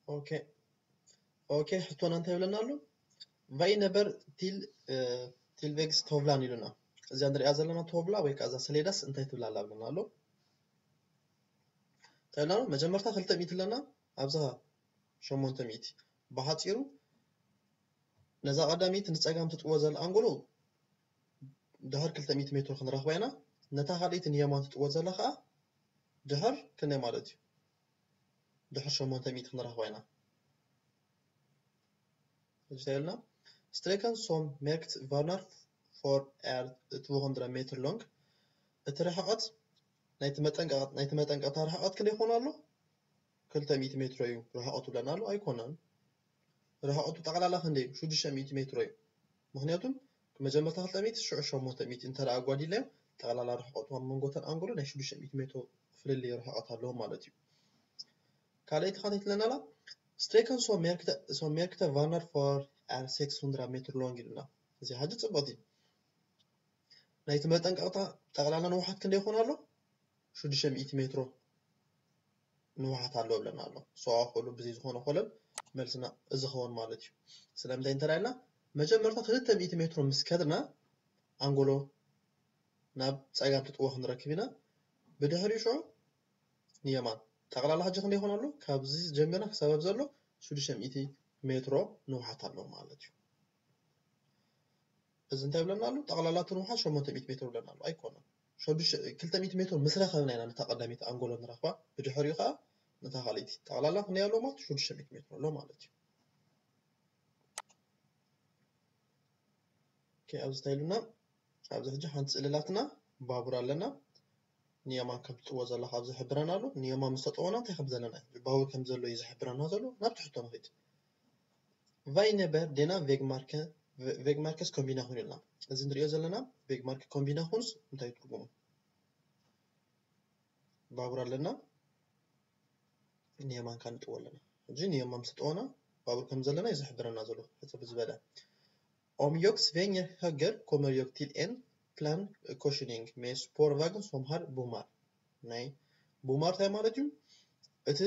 ኦኬ ኦኬ ሕቶና እንታይ ይብለና ኣሎ? Vad innebär till eh, tillväxt tavlan ኢሉና። እዚኣ ንሪኣ ዘለና ቶብላ ወይ ከዓ እዛ ሰሌዳስ እንታይ ትብላ ኣላ ብለና ኣሎ? እንታይ ብለና ኣሎ? መጀመርታ ክልተ ሚእቲ ኣለና፣ ኣብዛ ሸሞንተ ሚእቲ። ብሓፂሩ ነዛ ቀዳሚት ንፀጋም ትጥወ ዘላ ኣንጎሎ ድሕር ክልተ ሚእቲ ሜትሮ ክንረኽባ ኢና። ነታ ካልኣይቲ ንየማን ትጥወ ዘላ ከዓ ድሕር ክንደይ ማለት እዩ? ድሕር ሸሞንተ ሚእቲ ክንረኽባ ኢና። ሕጂ እንታይ ኢልና? Sträckan som märkt varnar för är två hundra meter lång። እቲ ርሕቐት ናይቲ መጠንቀቕ ናይቲ መጠንቀቕታ ርሕቐት ክንደይ ይኾን ኣሎ? ክልተ ሚእቲ ሜትሮ እዩ ርሕቐቱ ብለና ኣሎ። ኣይኮነን። ርሕቐቱ ጠቕላላ ክንደይ እዩ? ሽዱሽተ ሚእቲ ሜትሮ እዩ። ምኽንያቱም መጀመርታ ክልተ ሚእቲ ሽዑ ሸሞንተ ሚእቲ እንተ ደኣ ኣጓዲልናዮ ጠቕላላ ርሕቐቱ ኣብ መንጎ እተን ኣንጎሎ ናይ ሽዱሽተ ሚእቲ ሜትሮ ፍልልይ ርሕቐት ኣለዎ ማለት እዩ። ካልኣይቲ ኻንደይ ትብለና ኣላ? Sträckan som märkt varnar för är sex hundra meter lång ኢሉና። እዚ ሕጂ ጽቡቕ እዩ። ናይቲ መጠንቀቕታ ጠቕላላ ንውሓት ክንደይ ይኾን ኣሎ? ሽዱሽተ ሚእቲ ሜትሮ ንውሓት ኣለዎ ብለና ኣሎ። ሰው ኣኽእሉ ብዘይ ዝኾነ ኮለል መልስና እዚ ኸውን ማለት እዩ። ስለምንታይ እንተ ኢልና መጀመርታ ክልተ ሚእቲ ሜትሮ ምስ ከድና ኣንጎሎ ናብ ጸጋም ትጥወ ክንረክብ ኢና። ብድሕሪኡ ሽዑ ንየማን ጠቕላላ ሕጂ ክንደይ ይኾን ኣሎ? ካብዚ ጀሚርና ክሳብ ኣብዚ ዘሎ ሽዱሽተ ሚእቲ ሜትሮ ንውሓት ኣሎ ማለት እዩ። እዚ እንታይ ብለና ኣሎ? ጠቕላላ እቲ ንውሓት ሸሞንተ ሚእቲ ሜትሮ ብለና ኣሎ። ኣይኮነን። ሸዱሽተ ክልተ ሚእቲ ሜትሮ ምስ ረኸብና ኢና ነታ ቀዳሚት ኣንጎሎ ንረኽባ። ብድሕሪኡ ከዓ ነታ ካልኣይቲ። ጠቕላላ ክንደይ ኣሎ ማለት ሽዱሽተ ሚእቲ ሜትሮ ኣሎ ማለት እዩ። ኦኬ፣ ኣብዚ እንታይ ኢሉና? ኣብዚ ሕጂ ሓንቲ ስእሊ ኣላትና፣ ባቡር ኣለና። ንየማን ከም ትጥወ ዘላ ካብ ዝሕብረና ኣሎ። ንየማን ምስ ተጠወና እንታይ ከም ዘለና እዩ? ባቡር ከም ዘሎ እዩ ዝሕብረና ዘሎ። ናብቲ ሕቶ ንኺድ። Vad innebär denna vägmärke, vägmärkeskombination ኢልና። እዚ ንሪኦ ዘለና ቬግማርክ ኮምቢናሽንስ እንታይ ትርጉሙ? ባቡር ኣለና፣ ንየማን ከዓ ንጥወ ኣለና። ሕጂ ንየማን ምስ ተጠወና ባቡር ከም ዘለና እዩ ዝሕብረና ዘሎ። ሕጽር ዝበለ። Om jag svänger höger kommer jag till en plankorsning med spårvagn som har bommar. ናይ ቦማር እንታይ ማለት እዩ? እቲ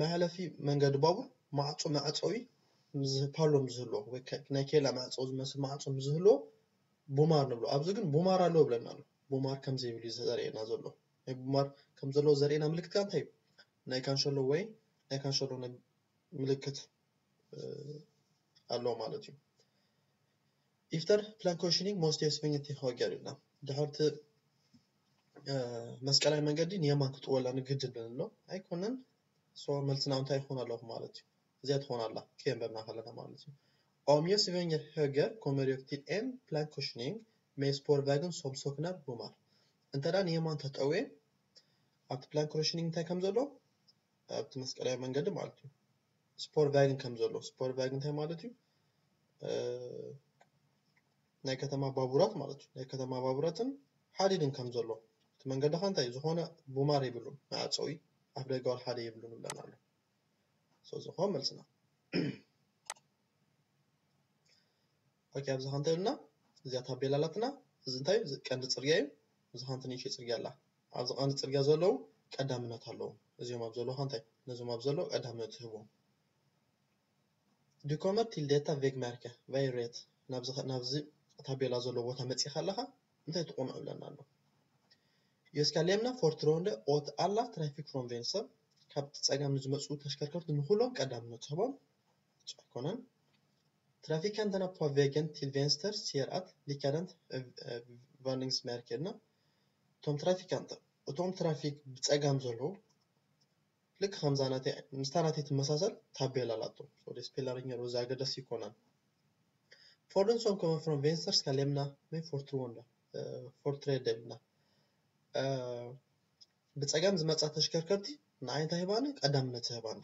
መሕለፊ መንገዲ ባቡር ማዕጾ መዕጸዊ ምስ ፓሎም ዝህልዎ ወይ ከ- ናይ ኬላ መዕጸዊ ዝመስል ማዕጾ ምስ ዝህልዎ ቦማር ንብሎ። ኣብዚ ግን ቦማር ኣለዎ ብለና ኣሎ። ቦማር ከም ዘይብሉ እዩ ዘርእየና ዘሎ። ናይ ቦማር ከም ዘለዎ ዘርእየና ምልክት ከኣ እንታይ እዩ? ናይ ካንሸሎ ወይ ናይ ካንሸሎ ናይ ምልክት ኣለዎ ማለት እዩ። Efter plankorsning måste jag svänga till höger ኢልና ድሕርቲ መስቀላዊ መንገዲ ንየማን ክጥወላ ንግድድ ንብሎ ኣይኮነን። So መልስና እንታይ ይኾን ኣለኹ ማለት እዩ። እዚኣ ትኾን ኣላ ከየንበብና ከለና ማለት እዩ። Om jag svänger höger kommer jag till en plankorsning med spårvagn som saknar bommar. እንተ ደኣ ንየማን ተጠውየ ኣብቲ ፕላን ኮርሽኒንግ እንታይ ከም ዘሎ ኣብቲ መስቀላዊ መንገዲ ማለት እዩ። ስፖር ቫግን ከም ዘሎ ስፖር ቫግን እንታይ ማለት እዩ? ናይ ከተማ ባቡራት ማለት እዩ። ናይ ከተማ ባቡራትን ሓዲድን ከም ዘሎ እቲ መንገዲ ኸ እንታይ ዝኾነ ቡማር የብሉን፣ መዕፀዊ ኣፍ ደጋዊ ሓደ የብሉን ይብለና ኣሎ። ስለዚ ኸ መልስና ኦኬ። ኣብዚ ኸ እንታይ ኢሉና? እዚኣ ታቤላ ኣላትና። እዚ እንታይ እዩ? እዚ ቀንዲ ፅርግያ እዩ። እዚ ኸ ንእሽተይ ፅርግያ ኣላ። ኣብዚ ቀንዲ ፅርግያ ዘለዉ ቀዳምነት ኣለዎም። እዚኦም ኣብ ዘለዉ ኸ እንታይ? ነዞም ኣብ ዘለዉ ቀዳምነት ትህብዎም። Du kommer till detta vägmärke, vad är rätt? ናብዚ ኸ- ናብዚ ታቤላ ዘሎ ቦታ መፂኻ ኣለኻ እንታይ ትቑንዑ ብለና ኣሎ። Jag ska lämna förtroende åt alla trafik från vänster. ካብ ፀጋም ንዝመፁ ተሽከርከርቲ ንኩሎም ቀዳምነት ትህቦም። ኣይኮነን። Trafikanterna på vägen till vänster ser att likadant varningsmärke ኢልና እቶም ትራፊካንት እቶም ትራፊክ ብፀጋም ዘለዉ ልክ ከምዛ ናተይ ምስታ ናተይ ትመሳሰል ታቤላ ኣላቶ። So det spelar ingen roll፣ እዚ ኣገዳሲ ኣይኮነን። Fordon som kommer från vänster ska lämna med förtroende. Företräde ኢልና ብፀጋም ዝመፃ ተሽከርከርቲ ንዓይ እንታይ ህባኒ? ቀዳምነት ህባኒ።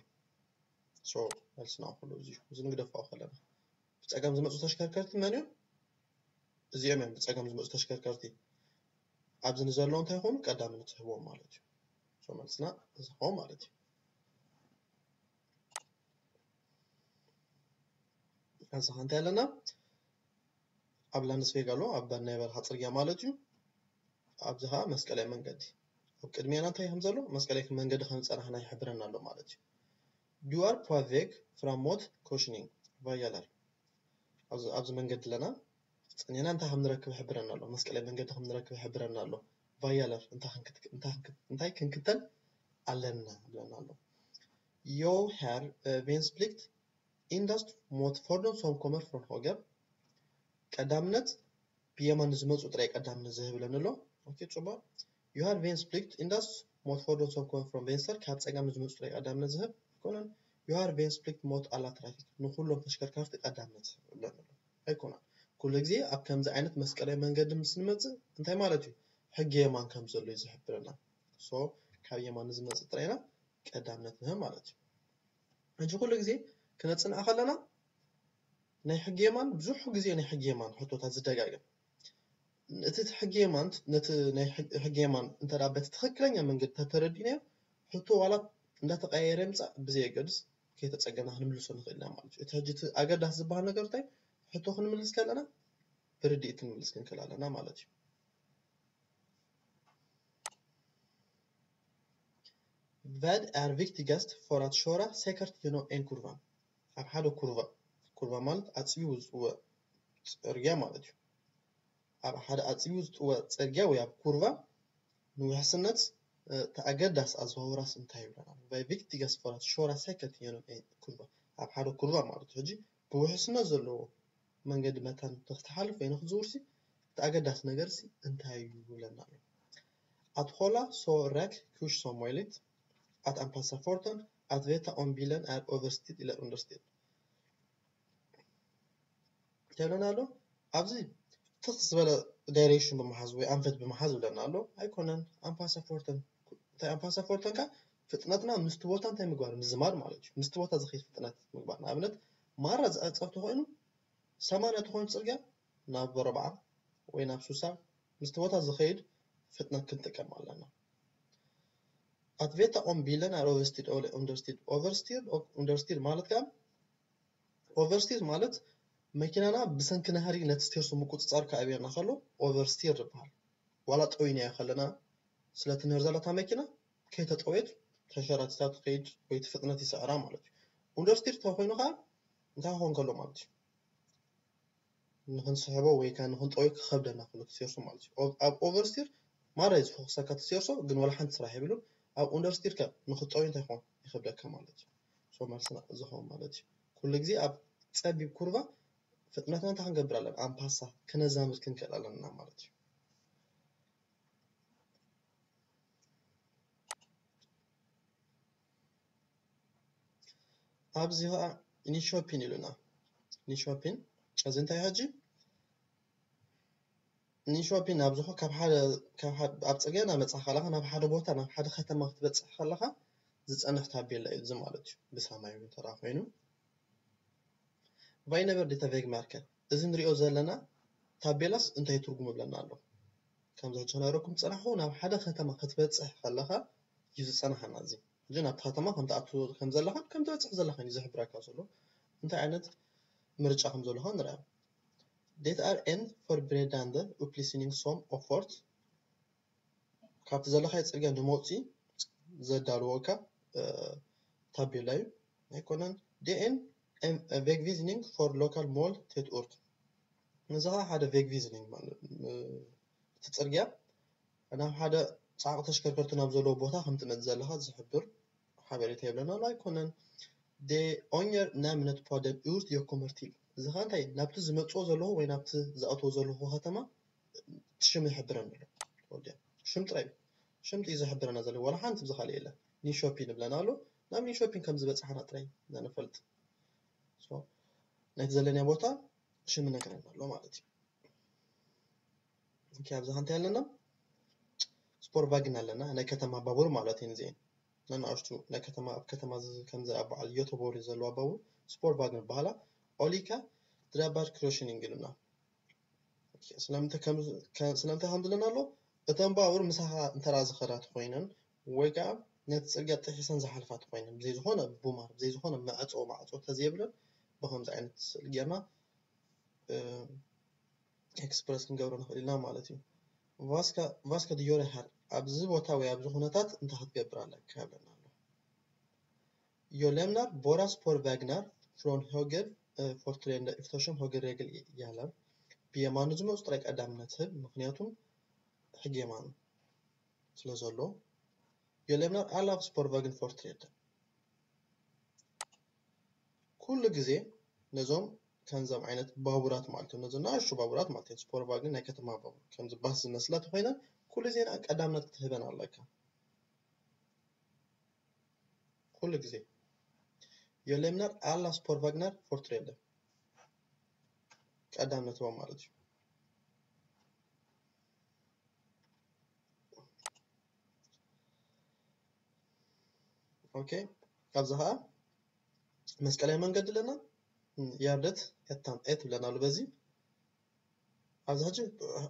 So መልስና ኩሉ እዚ እዚ ንግደፋ ከለና ብፀጋም ዝመፁ ተሽከርከርቲ መን እዮም? እዚኦም እዮም ብፀጋም ዝመፁ ተሽከርከርቲ ኣብዚ ንዘለዉ እንታይ ይኾኑ? ቀዳምነት ትህብዎም ማለት እዩ። So መልስና እዚ ኾ ማለት እዩ። እዚ ኸ እንታይ ኣለና? ኣብ ላንድስቬግ ኣሎ፣ ኣብ ናይ በረኻ ፅርግያ ማለት እዩ። ኣብዚ ኸዓ መስቀላዊ መንገዲ ኣብ ቅድሚያና እንታይ ከም ዘሎ መስቀላዊ መንገዲ ከም ዝፀናሕና ይሕብረና ኣሎ ማለት እዩ። Du er på vei fra mot korsning, hva gjelder? ኣብዚ መንገዲ ኣለና። ጸኒሕና እንታይ ከም ንረክብ ይሕብረና ኣሎ። መስቀላዊ መንገዲ ከም ንረክብ ይሕብረና ኣሎ። ቫያለር እንታይ ክንክተል ኣለና ይብለና ኣሎ። Jo her vensplikt indast mot fordon som kommer från hoger። ቀዳምነት ብየማን ንዝመፁ ጥራይ ቀዳምነት ዝህብ ኢለና ኣሎ። ኦኬ፣ ፅቡቅ። Jo her vensplikt indast mot fordon som kommer från venstre፣ ካብ ፀጋም ንዝመፁ ጥራይ ቀዳምነት ዝህብ ኣይኮነን። Jo her vensplikt mot alle trafikk፣ ንኩሎም ተሽከርካርቲ ቀዳምነት ዝህብ ኢለና ኣሎ። ኣይኮነን። ኩሉ ግዜ ኣብ ከምዚ ዓይነት መስቀላዊ መንገዲ ምስ ንመፅእ እንታይ ማለት እዩ? ሕጊ የማን ከም ዘሎ እዩ ዝሕብረና። So ካብ የማን ንዝመፅእ ጥራይ ኢና ቀዳምነት ንህብ ማለት እዩ። ሕጂ ኩሉ ግዜ ክነፅንዕ ከለና ናይ ሕጊ የማን ብዙሕ ግዜ ናይ ሕጊ የማን ሕቶታት ዝደጋገም። እቲ ሕጊ የማን ነቲ ናይ ሕጊ የማን እንተ በቲ ትኽክለኛ መንገዲ ተተረዲእናዮ ሕቶ ዋላ እንዳተቀያየረ ምፃእ ብዘየገድስ ከይተፀገና ክንምልሶ ንኽእል ኢና ማለት እዩ። እቲ ሕጂ እቲ ኣገዳሲ ዝበሃል ነገር እንታይ? ሕቶ ክንምልስ ከለና ብርድኢት ክንምልስ ክንክእል ኣለና ማለት እዩ። Vad er viktigast for at kjøre sikkert gjennom en kurve? ኣብ ሓደ ኩርቫ፣ ኩርቫ ማለት ኣፅቢቡ ዝጥወ ፅርግያ ማለት እዩ። ኣብ ሓደ ኣፅቢቡ ዝጥወ ፅርግያ ወይ ኣብ ኩርቫ ንውሕስነት እቲ ኣገዳሲ ኣዘዋውራስ እንታይ ይብለና? Vad er viktigast for at kjøre sikkert gjennom en kurve? ኣብ ሓደ ኩርቫ ማለት እዩ። ሕጂ ብውሕስነት ዘለዎ መንገዲ መታን ንክትሓልፍ ወይ ንክትዝውርሲ እቲ ኣገዳሲ ነገርሲ እንታይ እዩ ይብለና ኣሎ። At holde så rak kurs som mulig, at anpasse farten, at vite om bilen er overstyrt eller understyrt። እንታይ ይብለና ኣሎ? ኣብዚ ትኽ ዝበለ ዳይሬክሽን ብምሓዝ ወይ ኣንፈት ብምሓዝ ይብለና ኣሎ። ኣይኮነን፣ ኣንፓሰ ፎርተን። እንታይ ኣንፓሰ ፎርተን ከ? ፍጥነትና ምስቲ ቦታ እንታይ ምግባር? ምዝማድ ማለት እዩ። ምስቲ ቦታ ዝኸይድ ፍጥነት ምግባር። ንኣብነት ማራ ዝዕጸፍ ተኾይኑ ሰማንያ ተኾይኑ ጽርግያ ናብ ኣርብዓ ወይ ናብ ስሳ ምስቲ ቦታ ዝኸይድ ፍጥነት ክንጥቀም ኣለና። At vite om bilen er overstyrt eller understyrt. Overstyrt och understyrt ማለት ከኣ ኦቨርስቲር ማለት መኪናና ብሰንኪ ናህሪ ነቲ ስቴርሱ ምቁጽጻር ክኣብየና ከሎ ኦቨርስቲር ይበሃል። ዋላ ጠዊናዮ ከለና ስለቲ ንህር ዘለታ መኪና ከይተጠወየት ተንሸራቲታ ትኸይድ ወይ እቲ ፍጥነት ይስዕራ ማለት እዩ። ኡንደርስቲር ተኮይኑ ከዓ እንታይ ክኾን ከሎ ማለት እዩ? ንክንስሕቦ ወይ ከዓ ንክንጠውዮ ክኸብደና ከሎ እቲ ስቴርሱ ማለት እዩ። ኣብ ኦቨርስቲር ማራ እዩ ዝፎክሰካ እቲ ስቴርሱ፣ ግን ዋላ ሓንቲ ስራሕ የብሉን። ኣብ ኡንደርስቲር ከ ንክትጠውዮ እንታይ ክኾን ይኸብደካ ማለት እዩ። ሶ መልስና እዚ ክኸውን ማለት እዩ። ኩሉ ግዜ ኣብ ጸቢብ ኩርቫ ፍጥነትና እንታይ ክንገብር ኣለና? ኣምፓሳ ክነዛምድ ክንክእል ኣለና ማለት እዩ። ኣብዚ ከዓ ኒሾፒን ኢሉና። ኒሾፒን እዚ እንታይ ሕጂ ኒሾፒን ኣብዚ ኾ ካብ ሓደ ካብ ሓደ ኣብ ጽርግያ እናመጻኻ ከለኻ ናብ ሓደ ቦታ ናብ ሓደ ከተማ ክትበጽሕ ከለኻ ዝጸንሕ ታቤላ እዩ እዚ ማለት እዩ። ብሰማያዊ ተራ ኮይኑ ቫይነበር ዴታ ቬግ ማርከር እዚ ንሪኦ ዘለና ታቤላስ እንታይ ትርጉም ይብለና ኣሎ? ከምዚ ሕጂ ክነግረኩም ዝጸናሕኩ ናብ ሓደ ከተማ ክትበጽሕ ከለኻ እዩ ዝጸናሓና እዚ ሕጂ ናብቲ ከተማ ከም ትኣቱ ከም ዘለኻን ከም ትበጽሕ ዘለኻን እዩ ዝሕብረካ ዘሎ። እንታይ ዓይነት ምርጫ ከም ዘለኻ ንርኣ። Det er en forberedende opplysning som ofte ካብቲ ዘለኻዮ ጽርግያ ንመውጽኢ ዘዳልወካ ታቤላ እዩ። ኣይኮነን። Det er en veivisning for lokale mål til et ord። እዚ ኸዓ ሓደ ቬግቪዝኒንግ ማለት እቲ ጽርግያ ናብ ሓደ ጻዕቂ ተሽከርከርቲ ናብ ዘለዎ ቦታ ከም ትመጽእ ዘለኻ ዝሕብር ሓበሬታ ይብለና ኣሎ ኣይኮነን። Det anger navnet på den ort jeg kommer til። እዚ ኸዓ እንታይ ናብቲ ዝመጽኦ ዘለኹ ወይ ናብቲ ዝኣትዎ ዘለኹ ከተማ እቲ ሽም ይሕብረኒ ኣሎ። ሽም ጥራይ ሽም ጥዩ ዝሕብረና ዘሎ ዋላ ሓንቲ ብዝኻልእ የለን። ኒሾፒን ይብለና ኣሎ ናብ ኒሾፒን ከም ዝበጻሕና ጥራይ ኢና ንፈልጥ። ናይቲ ዘለናዮ ቦታ ሽም ይነግረና ኣሎ ማለት እዩ። ኦኬ ኣብዛ እንታይ ኣለና? ስፖር ቫግን ኣለና ናይ ከተማ ባቡር ማለት እዩ። እዚአን ነናእሽቱ ናይ ከተማ ኣብ ከተማ ከምዚ ኣብ በዓል ዮቶቦሪ ዘለዋ ባቡር ስፖር ቫግን ይበሃላ። ኦሊካ ድራባር ክሮሽኒንግ ኢሉና ስለምንታይ ከም ዝለና ኣሎ እተን ባቡር ምሳኻ እንተራ ዝኸዳ ተኮይነን ወይ ከዓ ነቲ ፅርግያ ጥሒሰን ዝሓልፋ ተኮይነን ብዘይ ዝኾነ ቡማር ብዘይ ዝኾነ መዕፆ ማዕፆ ተዘይብለን ብከምዚ ዓይነት ስእሊ ጌርና ኤክስፕረስ ክንገብሮ ንኽእል ኢና ማለት እዩ። ቫስካ ዲዮረ ሃር ኣብዚ ቦታ ወይ ኣብዚ ኩነታት እንታይ ክትገብር ኣለካ ይብለና ኣሎ። Jo lämnar bara spårvagnar från höger eh, företrädande eftersom högerregel gäller. ብየማኑ ዝመፁ ጥራይ ቀዳምነት ህብ፣ ምክንያቱም ሕጊ የማኑ ስለ ዘሎ። Jo lämnar alla spårvagnar företräde። ኩሉ ግዜ ነዞም ከምዞም ዓይነት ባቡራት ማለት እዮም፣ ነዞም ንኣሽቱ ባቡራት ማለት እዮም፣ ስፖርቫግን ናይ ከተማ ባቡር፣ ከምዚ ባስ ዝመስላ ተኮይነን ኩሉ ግዜ ንኣ ቀዳምነት ክትህበን ኣለካ። ኩሉ ግዜ። Jo lämnar alla spårvagnar företräde። ቀዳምነት ህቦም ማለት እዩ። ኦኬ፣ ካብዚ ከዓ መስቀላዊ መንገዲ ኣለና። ያርደት ኤታን ኤ ትብለና ኣሎ። በዚ ኣብዚ ሕጂ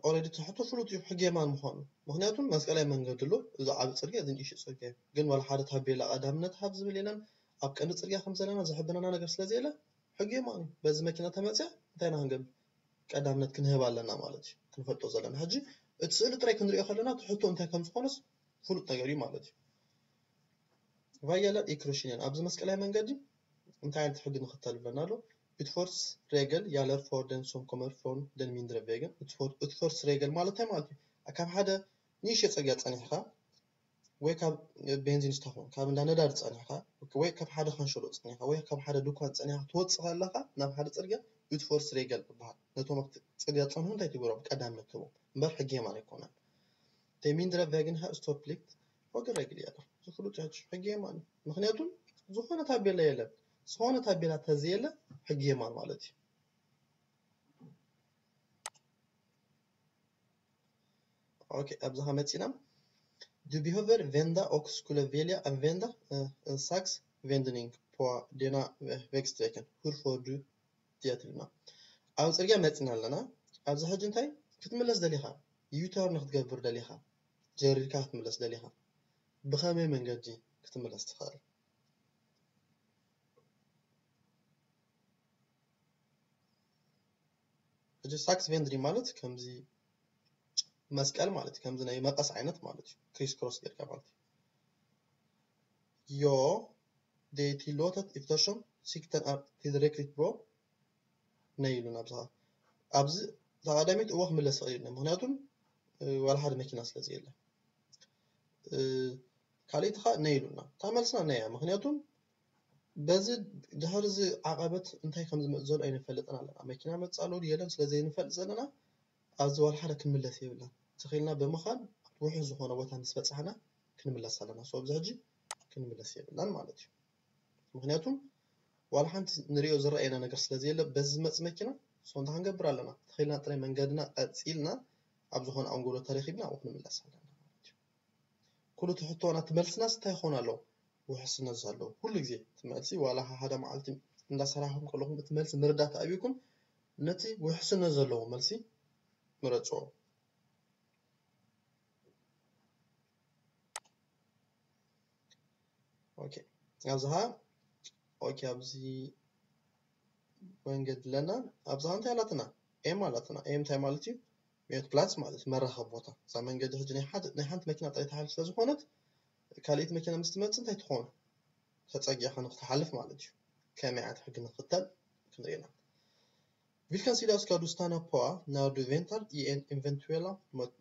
ኦልሬዲ ትሕቶ ፍሉጥ እዩ ሕጊ የማን ምዃኑ። ምክንያቱም መስቀላዊ መንገዲ ኣሎ፣ እዚ ዓቢ ጽርግያ፣ እዚ ንእሽቶ ጽርግያ እዩ። ግን ዋላ ሓደ ታቤላ ቀዳምነት ሃብ ዝብል የለን። ኣብ ቀንዲ ጽርግያ ከም ዘለና ዝሕብነና ነገር ስለ ዘየለ ሕጊ የማን እዩ። በዚ መኪና ተመጽያ እንታይ ኢና ክንገብር? ቀዳምነት ክንህብ ኣለና ማለት እዩ። ክንፈልጦ ዘለና። ሕጂ እቲ ስእሊ ጥራይ ክንሪኦ ከለና እቲ ሕቶ እንታይ ከም ዝኾነስ ፍሉጥ ነገር እዩ ማለት እዩ። Vad gäller i kryssningen? ኣብዚ መስቀላዊ መንገዲ እንታይ ዓይነት ሕጊ ንኽተል ብለና ኣሎ? Utfartsregel gäller för den som kommer från den mindre vägen. Utfart-, utfartsregel ማለት እንታይ ማለት እዩ? ካብ ሓደ ንእሽቶ ጽርግያ ጸኒሕካ ወይ ካብ ቤንዚን ስታሽን ካብ እንዳ ነዳዲ ጸኒሕካ ወይ ካብ ሓደ ካንሸሎ ጸኒሕካ ወይ ካብ ሓደ ድኳን ጸኒሕካ ትወጽእ ከለኻ ናብ ሓደ ጽርግያ utfartsregel ይበሃል። ነቶም ኣብቲ ጽርግያ ዝጸንሑ እንታይ ትገብሮም? ቀዳምነት ትህቦም እምበር ሕጊ የማን ኣይኮነን። Den mindre vägen har ståplikt, högerregel gäller. እዚ ፍሉጥ ሕጂ ሕጊ የማን እዩ። ምክንያቱም ዝኾነ ታቤላ የለን። ዝኾነ ታቤላ ተዘየለ ሕጊ የማን ማለት እዩ። ኦኬ፣ ኣብዚ ከመፂና Du behöver vända och skulle vilja använda eh, en saxvändning på denna eh, vägsträckan. Hur får du det ትብልና? ኣብ ፅርግያ መፂና ኣለና። ኣብዚ ሕጂ እንታይ ክትምለስ ደሊኻ? ዩተርን ክትገብር ደሊኻ? ጀሪርካ ክትምለስ ደሊኻ? ብኸመይ መንገዲ ክትምለስ ትኽእል? ሕጂ ሳክስቬንድሪ ማለት ከምዚ መስቀል ማለት እዩ። ከምዚ ናይ መቐስ ዓይነት ማለት እዩ። ክሪስ ክሮስ ጌርካ ማለት እዩ። Jo, det är tillåtet eftersom sikten är tillräckligt bra. Nej ኢሉና ኣብዚ ኸዓ። ኣብዚ ተቐዳሚት እዎ ክምለስ ይኽእል እዩ። ምክንያቱም ዋላ ሓደ መኪና ስለ ዘየለ። ካልኣይቲ ኸዓ ነይ ኢሉና። እታ መልስና ነይ እያ። ምክንያቱም በዚ ድሕሪ እዚ ዓቐበት እንታይ ከም ዝመፅእ ዘሎ ኣይንፈልጥን ኣለና። መኪና መፅእ ኣሎ ድዩ የለን ስለ ዘይንፈልጥ ዘለና ኣብዚ ዋላ ሓደ ክንምለስ የብልናን። ተኺልና ብምኻን ውሑስ ዝኾነ ቦታ ምስ በፃሕና ክንምለስ ኣለና። So ኣብዚ ሕጂ ክንምለስ የብልናን ማለት እዩ። ምክንያቱም ዋላ ሓንቲ ንሪኦ ዝረኣየና ነገር ስለ ዘየለ በዚ ዝመፅእ መኪና so እንታይ ክንገብር ኣለና? ተኺልና ጥራይ መንገድና ቀፂልና ኣብ ዝኾነ ኣንጎሎ ተረኺብና ኣብኡ ክንምለስ ኣለና ማለት እዩ። ኩሉ እቲ ሕቶና እቲ መልስናስ እንታይ ይኸውን ኣሎ? ውሕስነት ዘለዎ ኩሉ ግዜ እቲ መልሲ ዋላ ሓደ መዓልቲ እንዳሰራሕኩም ከለኹም እቲ መልሲ ምርዳእ ተኣብዩኩም ነቲ ውሕስነት ዘለዎ መልሲ ምረፅዎ። ኦኬ፣ ኣብዚ ኸዓ ኦኬ፣ ኣብዚ መንገዲ ኣለና። ኣብዚ ኸዓ እንታይ ኣላትና? ኤም ኣላትና። ኤም እንታይ ማለት እዩ? ሜት ፕላስ ማለት እዩ፣ መራኸቢ ቦታ። እዛ መንገዲ ሕጂ ናይ ሓደ፣ ናይ ሓንቲ መኪና ጥራይ ትሓልፍ ስለ ዝኾነት ካልኣይቲ መኪና ምስ ትመጽእ እንታይ ትኾን? ተጸጊዕካ ንክትሓልፍ ማለት እዩ። ከመይ ዓይነት ሕጊ ንክተል ክንርኢ ኢና። Vilken sida ska du stanna på när du väntar i en eventuella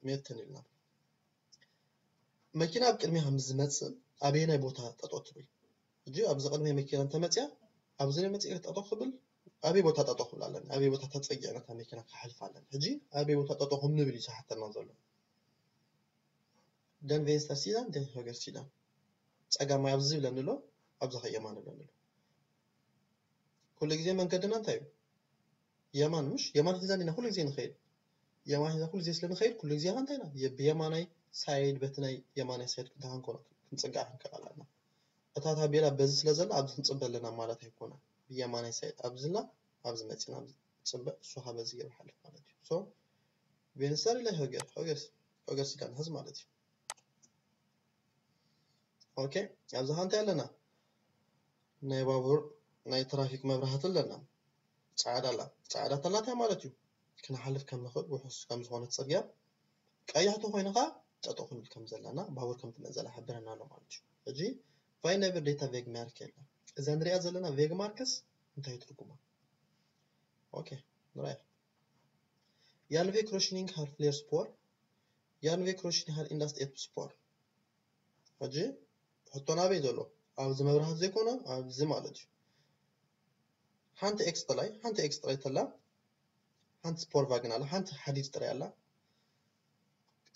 möten ኢልና። መኪና ኣብ ቅድሚኻ ምስ ዝመጽእ ኣበየናይ ቦታ ጠጠው ትብል? ሕጂ ኣብዚ ቅድሚ መኪና እንተመጽያ ኣብዚ ናይ መጽኢ ጠጠው ክብል ኣበይ ቦታ ጠጠው ክብል ኣለኒ? ኣበይ ቦታ ተጸጊዐ ነታ መኪና ክሓልፍ ኣለኒ? ሕጂ ኣበይ ቦታ ጠጠው ከም ንብል እዩ ዝሓተና ዘሎ። Den vänstra sidan, den högra sidan. ጸጋማይ ኣብዚ ዝብለኒ ኣሎ፣ ኣብዚ ኸ የማን ዝብለኒ ኣሎ። ኩሉ ግዜ መንገድና እንታይ እዩ? የማን ምሽ? የማን ሒዛ እንዲና ኩሉ ግዜ ንኸይድ። የማን ሒዛ ኩሉ ግዜ ስለ ንኸይድ ኩሉ ግዜ ኸ እንታይ ኢና? የ-፣ ብየማናይ ሳይድ በቲ ናይ የማናይ ሳይድ ክንታ ክንኮኖ ክንጽጋዕ ክንክእል ኣለና። እታ ታቤላ በዚ ስለ ዘላ ኣብዚ ክንጽበ ኣለና ማለት ኣይኮነን። ብየማናይ ሳይድ ኣብዚ ላ ኣብዚ መጺና ኣብዚ ጽበ እሱ ኸ በዚ ገይሩ ሓልፍ ማለት እዩ። So ቬንስተር ኢለ ሆገር፣ ሆገር፣ ሆገር ሲዳን ሕዝ ማለት እዩ። ኦኬ፣ ኣብዚ ኸ እንታይ ኣለና? ናይ ባቡር ናይ ትራፊክ መብራህቲ ኣለና። ጻዕዳ ኣላ። ጻዕዳ ተላትያ ማለት እዩ። ክንሓልፍ ከም ንኽእል ውሑስ ከም ዝኾነት ጽርግያ። ቀያሕ ተኾይኑ ኸዓ ጠጠው ክንብል ከም ዘለና፣ ባቡር ከም ትመጽእ ዘላ ይሕብረና ኣሎ ማለት እዩ። ሕጂ ፋይን ነብር ዴታ ቬግ መርክ የለን። እዛ ንሪኣ ዘለና ቬግማርከስ እንታይ ትርጉማ? ኦኬ፣ ንርኣያ። Järnvägskryssningen har flera spår. Järnvägskryssningen har endast ett spår. ሕጂ ሕቶ ናበይ ዘሎ? ኣብዚ መብራህቲ ዘይኮነ ኣብዚ ማለት እዩ። ሓንቲ ኤክስ ጥራይ፣ ሓንቲ ኤክስ ጥራይ ተላ፣ ሓንቲ ስፖር ቫግን ኣላ፣ ሓንቲ ሓዲድ ጥራይ ኣላ።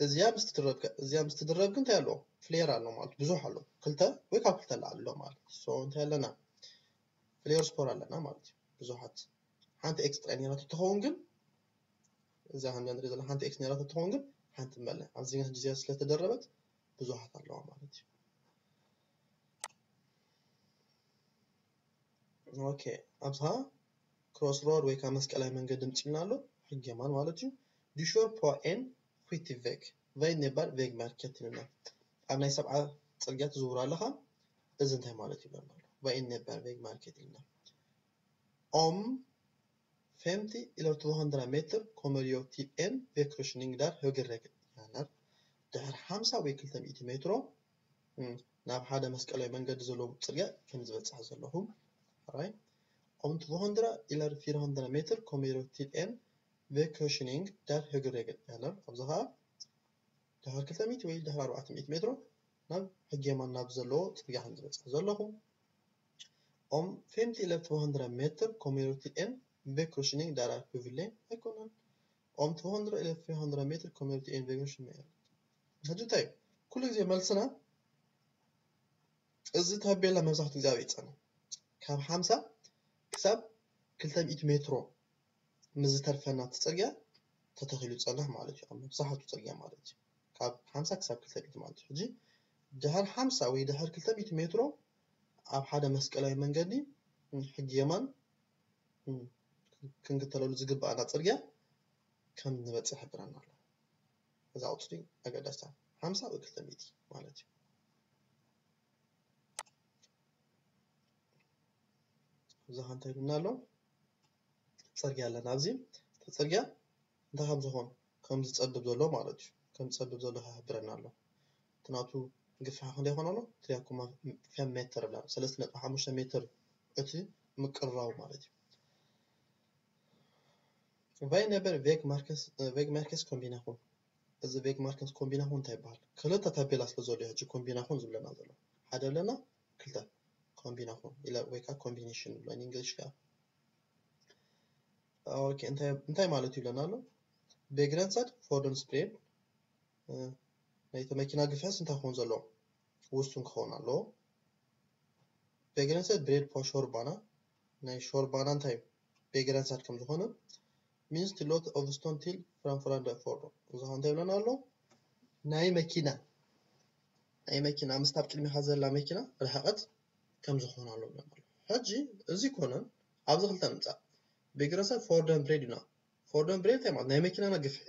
እዚኣ ምስ ትድረብ ከ፣ እዚኣ ምስ ትድረብ ግን እንታይ ኣለዎ? ፍሌር ኣሎ ማለት ብዙሕ ኣሎ። ክልተ ወይ ካብ ክልተ ንላዕሊ ኣሎ ማለት እዩ። So እንታይ ኣለና? ፍሌር ስፖር ኣለና ማለት እዩ። ብዙሓት። ሓንቲ ኤክስ ጥራይ ነይራቶ ትኸውን ግን፣ እዛ ከም ንሪኦ ዘለና ሓንቲ ኤክስ ነይራቶ ትኸውን ግን፣ ሓንቲ እምበር ኣብዚ ግን ሕጂ እዚኣ ስለተደረበት ብዙሓት ኣለዋ ማለት እዩ። ኦኬ፣ ኣብዛ ክሮስ ሮድ ወይ ከዓ መስቀላዊ መንገዲ ምፂኡና ኣሎ፣ ሕጊ የማን ማለት እዩ። Du kör på en skitig väg. Vad innebär vägmärket? ኢሉና። ኣብ ናይ ሰብዓ ፅርግያ ትዝውር ኣለኻ። እዚ እንታይ ማለት እዩ? Vad innebär vägmärket? ኢሉና። Om femtio eller tvåhundra meter kommer jag till en vägkorsning där högerregeln gäller. ድሕሪ ሓምሳ ወይ ክልተ ሚእቲ ሜትሮ፣ እም፣ ናብ ሓደ መስቀላዊ መንገዲ ዘለዎ ጽርግያ ከም ዝበጽሕ ዘለኹ። ራይ። Om tvåhundra eller fyrahundra meter kommer jag till en vägkorsning där högerregeln gäller. ኣብዚ ኸኣ ድሕሪ ክልተ ሚእቲ ወይ ድሕሪ ኣርባዕተ ሚእቲ ሜትሮ ናብ ሕጊ የማን ናብ ዘለዎ ጽርግያ ከም ዝበጽሕ ዘለኹ። Om femtio eller tvåhundra meter kommer jag till en vägkorsning där är huvudled. ኣይኮነን። Om tvåhundra eller fyrahundra meter kommer jag till en vägkorsning. ሕጂ እንታይ እዩ? ኩሉ ግዜ መልስና እዚ ታቤላ መብዛሕትኡ ግዜ ኣበይ ይጸንሕ? ካብ ሓምሳ ክሳብ ክልተ ሚእቲ ሜትሮ ምስ ዝተርፈና እቲ ጽርግያ ተተኺሉ ዝጸንሕ ማለት እዩ። ኣብ መብዛሕትኡ ጽርግያ ማለት እዩ። ካብ ሓምሳ ክሳብ ክልተ ሚእቲ ማለት እዩ። ሕጂ ድሕሪ ሓምሳ ወይ ድሕሪ ክልተ ሚእቲ ሜትሮ ኣብ ሓደ መስቀላዊ መንገዲ ሕጊ የማን ክንክተለሉ ዝግብኣና ጽርግያ ከም ንበጽሕ ይሕብረና ኣሎ። እዛ ቁጽሪ ኣገዳሲታ፣ ሓምሳ ወይ ክልተ ሚእቲ ማለት እዩ። እዛ ከ እንታይ ኢሉና ኣሎ? ጽርግያ ኣለና። ኣብዚ እቲ ጽርግያ እንታይ ከም ዝኾን ከም ዝጸብብ ዘሎ ማለት እዩ። ከም ዝጸብብ ዘሎ ይሕብረና ኣሎ። እቲ ናቱ ግፍሒ ክንደይ ይኾን ኣሎ? ትሪያ ኮማ ፌም ሜትር ብላ፣ ሰለስተ ነጥቢ ሓሙሽተ ሜትር እቲ ምቅርራቡ ማለት እዩ። Vad innebär vägmärkes-, eh, vägmärkeskombination? እዚ ቬግማርከስ ኮምቢናኹን እንታይ ይበሃል? ክልተ ታቤላ ስለ ዘሎ እዩ ሕጂ ኮምቢናኹን ዝብለና ዘሎ። ሓደ ኣለና፣ ክልተ ኮምቢናኹን ኢለ ወይ ከዓ ኮምቢኔሽን ንብሎ እንግሊሽ ከዓ። ኦኬ፣ እንታይ፣ እንታይ ማለት እዩ ይብለና ኣሎ? Begränsad fordonsbredd፣ እ፣ ናይቲ መኪና ግፍሕስ እንታይ ክኸውን ዘለዎ? ውሱን ክኸውን ኣለዎ። Begränsad bredd på körbana፣ ናይ ሾርባና እንታይ እዩ? Begränsad ከም ዝኾነ፣ minst tillåtet avstånd till framförande fordon። እዚ ኸ እንታይ ይብለና ኣሎ? ናይ መኪና፣ ናይ መኪና ምስታ ኣብ ቅድሚኻ ዘላ መኪና ርሕቐት ከም ዝኾነ ኣሎ ይብለና ኣሎ። ሕጂ እዚ ኮነ ኣብዚ ክልተ ንምጻእ። Begränsad fordonsbredd ኢና። Fordonsbredd እንታይ ማለት? ናይ መኪናና ግፍሒ።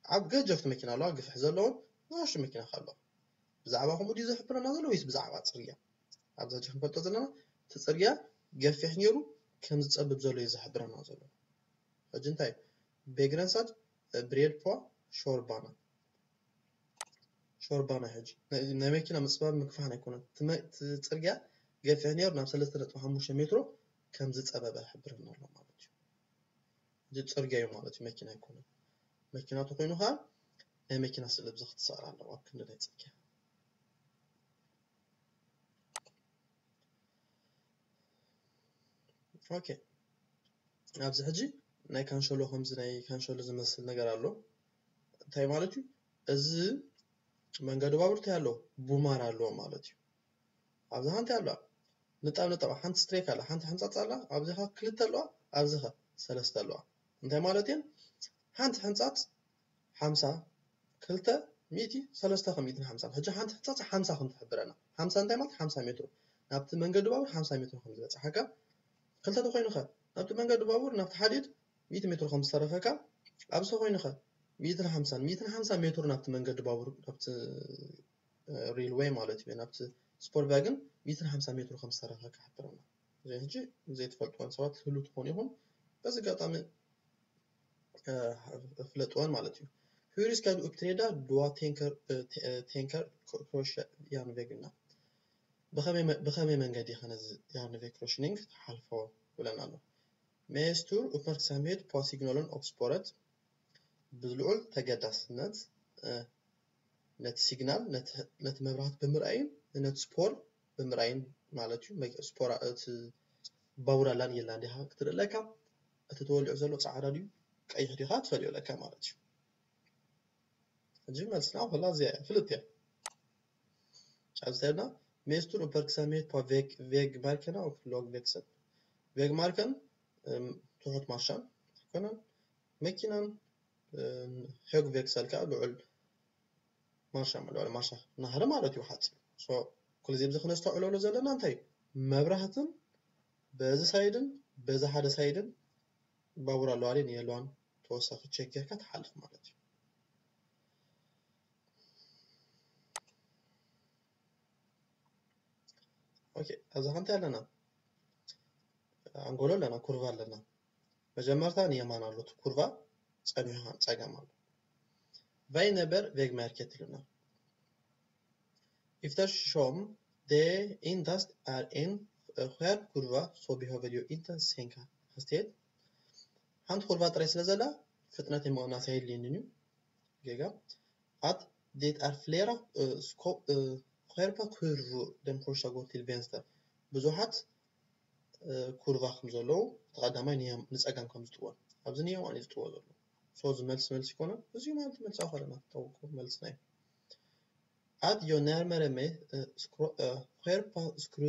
ኣብ ገጀፍቲ መኪና ኣለዋ፣ ግፍሒ ዘለዎን ንኣሽቱ መኪና ከ ኣለዋ። ብዛዕባ ከምኡ ድዩ ዝሕብረና ዘሎ ወይስ ብዛዕባ ጽርግያ? ኣብዚ ሕጂ ክንፈልጦ ዘለና እቲ ጽርግያ ገፊሕ ነይሩ ከም ዝጸብብ ዘሎ እዩ ዝሕብረና ዘሎ። ሕጂ እንታይ? Begränsad bredd på körbana። ሾርባና ሕጂ ናይ፣ ናይ መኪና ምጽባብ ምግፋሕን ኣይኮነን። እቲ መ-፣ እቲ ጽርግያ ገፊሕ ነይሩ ናብ ሰለስተ ነጥቢ ሓሙሽተ ሜትሮ ከም ዝጸበበ ይሕብረና ኣሎ ማለት እዩ። እዚ ጽርግያ እዩ ማለት እዩ፣ መኪና ኣይኮነን። መኪና ተኾይኑ ኸኣ ናይ መኪና ስእሊ ኣብዚ ክትስዕር ኣለዋ ኣብ ክንዲ ናይ ጽርግያ። ኦኬ፣ ኣብዚ ሕጂ ናይ ካንሸሎ ከምዚ ናይ ካንሸሎ ዝመስል ነገር ኣሎ። እንታይ ማለት እዩ? እዚ መንገዲ ባቡር እንታይ ኣለዎ? ቡማር ኣለዎ ማለት እዩ። ኣብዚ ሓንቲ ኣለዋ፣ ንጣብ ንጣብ ሓንቲ ስትሬክ ኣላ፣ ሓንቲ ሕንጻጽ ኣላ፣ ኣብዚ ኸ ክልተ ኣለዋ፣ ኣብዚ ኸ ሰለስተ ኣለዋ። እንታይ ማለት እየን? ሓንቲ ሕንጻጽ ሓምሳ፣ ክልተ ሚእቲ፣ ሰለስተ ከ ሚእትን ሓምሳን። ሕጂ ሓንቲ ሕንጻጽ ሓምሳ ከም ትሕብረና። ሓምሳ እንታይ ማለት? ሓምሳ ሜትሮ። ናብቲ መንገዲ ባቡር ሓምሳ ሜትሮ ከም ዝበጽሓካ። ክልተ ተኾይኑ ኸ? ናብቲ መንገዲ ባቡር፣ ናብቲ ሓዲድ ሚእቲ ሜትሮ ከም ዝተረፈካ። ኣብዚ ተኾይኑ ኸ? ሚእትን ሓምሳን፣ ሚእትን ሓምሳ ሜትሮ ናብቲ መንገዲ ባቡር፣ ናብቲ፣ እ፣ ሬልዌይ ማለት እዩ፣ ናብቲ ስፖር ቫግን ሚእትን ሓምሳ ሜትሮ ከም ዝተረፈካ ይሕብረና። እዚ ሕጂ ዘይትፈልጥዎም ሰባት ትህሉ ትኾኑ ኢኹም። በዚ ኣጋጣሚ እ፣ ፍለጥወን ማለት እዩ። Hur ska du uppträda då du tänker, eh, t-, eh, tänker ko-, korsjärnvägarna? ብኸመይ መንገዲ ኸ ነዚ ያርንቬክሮሽኒንግ ክሓልፎ ይብለና ኣሎ? Meestur uppmärksamhet på signalen och spåret፣ ብልዑል ተገዳስነት ነቲ ሲግናል፣ ነቲ መብራህት ብምርኣይን ነቲ ስፖር ብምርኣይን ማለት እዩ። ስፖራ እቲ ባቡር ኣላን የላን ዲኻ ክትርኢ ኣለካ፣ እቲ ተወሊዑ ዘሎ ፃዕዳ ድዩ ቀይሕ ዲኻ ትፈልዮ ኣለካ ማለት እዩ። ሕጂ መልስና ኩላ እዚኣ እያ፣ ፍልጥ እያ። ኣብዚ ተብና Meestur uppmärksamhet på vägmärkena och lågväxeln። ቬግማርከን ትሑት ማርሻን ኣይኮነን፣ መኪናን ሄግ ቬክሰል ከዓ ልዑል ማርሻ ልዑል ማርሻ ናህሪ ማለት እዩ ሓፂ። ኩሉ ዚ ብዚ ክነስተውዕለሉ ዘለና እንታይ እዩ? መብራህትን በዚ ሳይድን በዚ ሓደ ሳይድን ባቡር ኣለዋ ድየን የለዋን ተወሳኺ ቸክ ጌርካ ትሓልፍ ማለት እዩ። ኦኬ፣ ኣብዚ ሓንቲ ኣለና፣ ኣንጎሎ ኣለና፣ ኩርቫ ኣለና። መጀመርታ ንየማን ኣሎ እቲ ኩርቫ፣ ጸኒሑ ጸገም ኣሎ። Vad innebär vägmärket? ይብለና። Eftersom det endast är en skärpt kurva så behöver jag inte sänka hastigheten. ሓንቲ ኩርቫ ጥራይ ስለ ዘላ ፍጥነት ምቕናስ ኣየድልየንን እዩ። ጌጋ። Att det är flera skärpta kurvor den första går till vänster. ብዙሓት ኩርቫ ከም ዘለዉ እቲ ቀዳማይ ንጸጋም ከም ዝጥወ፣ ኣብዚ ንየማን እዩ ዝጥወ ዘሎ። So እዚ መልሲ መልሲ ይኮነ፣ እዚ ማለት መልሲ ኣኸለና ተውቁ መልሲ ናይ ኣት ዮ ነርመረ መ ኸርፓ ስክሩ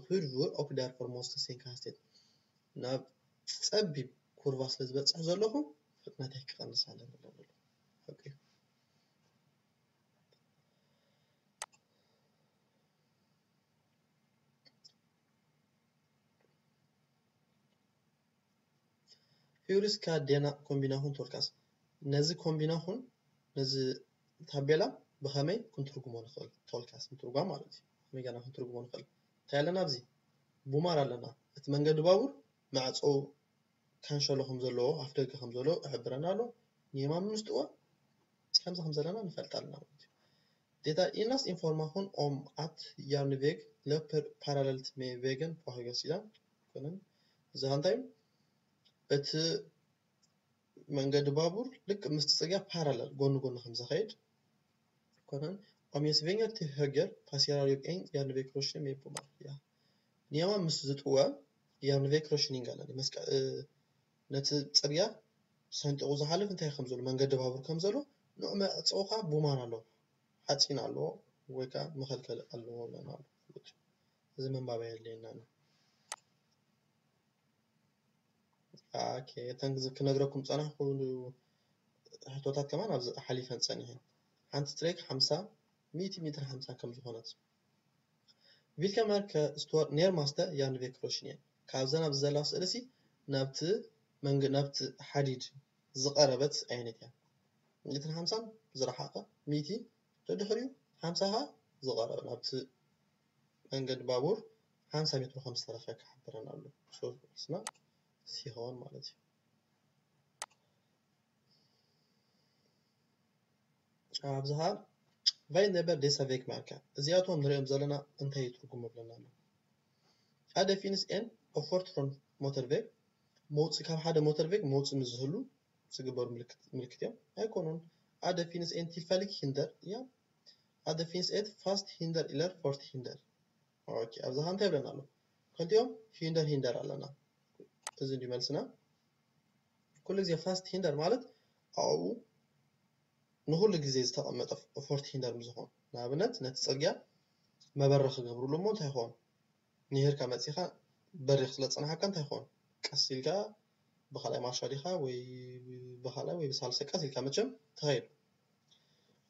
ኹርቡር ኦክ ዳር ፎርሞስ ተሴንካ ስቴት ናብ ጸቢብ ኩርቫ ስለ ዝበጽሕ ዘለኹ ፍጥነተይ ክቐንስ ኣለኒ ኣለሉ። ሓቂ እዩ። Hur ska denna kombination tolkas? ነዚ ኮምቢናኹን ነዚ ታቤላ ብኸመይ ክንትርጉሞ ንኽእል? ቶልካስ ምትርጓም ማለት እዩ። ከመይ ገና ክንትርጉሞ ንኽእል? እንታይ ኣለና ኣብዚ? ቡማር ኣለና። እቲ መንገዲ ባቡር ማዕጾ ካንሸሎ ከም ዘለዎ፣ ኣፍ ደገ ከም ዘለዎ ይሕብረና ኣሎ። ንየማን ምስጥዎ ከምዚ ከም ዘለና ንፈልጥ ኣለና ማለት እዩ። Detta endast information om att järnväg löper parallellt med vägen på högersidan. ኮነን እዚ እንታይ እቲ መንገዲ ባቡር ልክ ምስቲ ጽርግያ ፓራለል ጎኒ ጎኒ ከም ዝኸይድ ኮነን om jag svänger till höger passerar jag en järnvägskorsning med bommar. Ja. ንየማን ምስ ዝጥወ järnvägskorsning ኣለኒ መስቀ ነቲ ጽርግያ ሰንጢቑ ዝሓልፍ እንታይ ከም ዘሎ መንገዲ ባቡር ከም ዘሎ ንዑ መዕጸውካ ቡማር ኣለዎ፣ ሓጺን ኣለዎ ወይ ከዓ መኸልከሊ ኣለዎ ኣለና ኣሎ። እዚ ምንባብ ኣየድልየና እዩ። ኦኬ፣ እተን ክነግረኩም ጸናሕኩ ሕቶታት ከማን ኣብዚ ሓሊፈን ጸኒሐን። ሓንቲ ትሬክ ሓምሳ ሚእቲ ሜትር ሓምሳ ከም ዝኾነት Vilka märke står närmast järnvägskorsningen? ካብዘን ኣብዚ ዘለዋ ስእሊ ሲ ናብቲ መንግ ናብቲ ሓዲድ ዝቐረበት ዓይነት እያ። ሚእትን ሓምሳን ዝረሓቐ፣ ሚእቲ ደድሕሪኡ ሓምሳ ኸኣ ዝቐረበ ናብቲ መንገዲ ባቡር ሓምሳ ሜትሮ ከም ዝተረፈ ክሓብረና ኣሎ። So መልስና ሲ ይኸውን ማለት እዩ። ኣብዝሃ ቫይን ነበር ዴሳ ቬግ ማርካ እዚኣቶም ንሪኦም ዘለና እንታይ ትርጉም ኣለና ኣሎ? ሓደ ፊንስ ኤን ኦፎርት ፍሮም ሞተር ቬግ መውፅእ ካብ ሓደ ሞተር ቬግ መውፅእ ምስ ዝህሉ ዝግበሩ ምልክት እዮም ኣይኮኑን። ሓደ ፊንስ ኤን ቲልፋሊክ ሂንደር እያ። ሓደ ፊንስ ኤት ፋስት ሂንደር ኢለር ፎርት ሂንደር። ኦኬ፣ ኣብዝሃ እንታይ ይብለና ኣሎ? ክልቲኦም ሂንደር ሂንደር ኣለና። እዚ እንዲ መልስና ኩሉ ግዜ ፋስት ሂንደር ማለት ኣብኡ ንኹሉ ግዜ ዝተቐመጠ ፎርት ሂንደር ምዝኾን ንኣብነት ነቲ ጽርግያ መበረ ክገብርሉ እሞ እንታይ ይኸውን? ንሄርካ መጺኻ በሪኽ ስለ ዝጸናሓካ እንታይ ይኸውን? ቀስ ኢልካ ብኻልኣይ ማርሻ ዲኻ ወይ ብኻልኣይ ወይ ብሳልሳይ ቀስ ኢልካ መቸም ትኸይድ።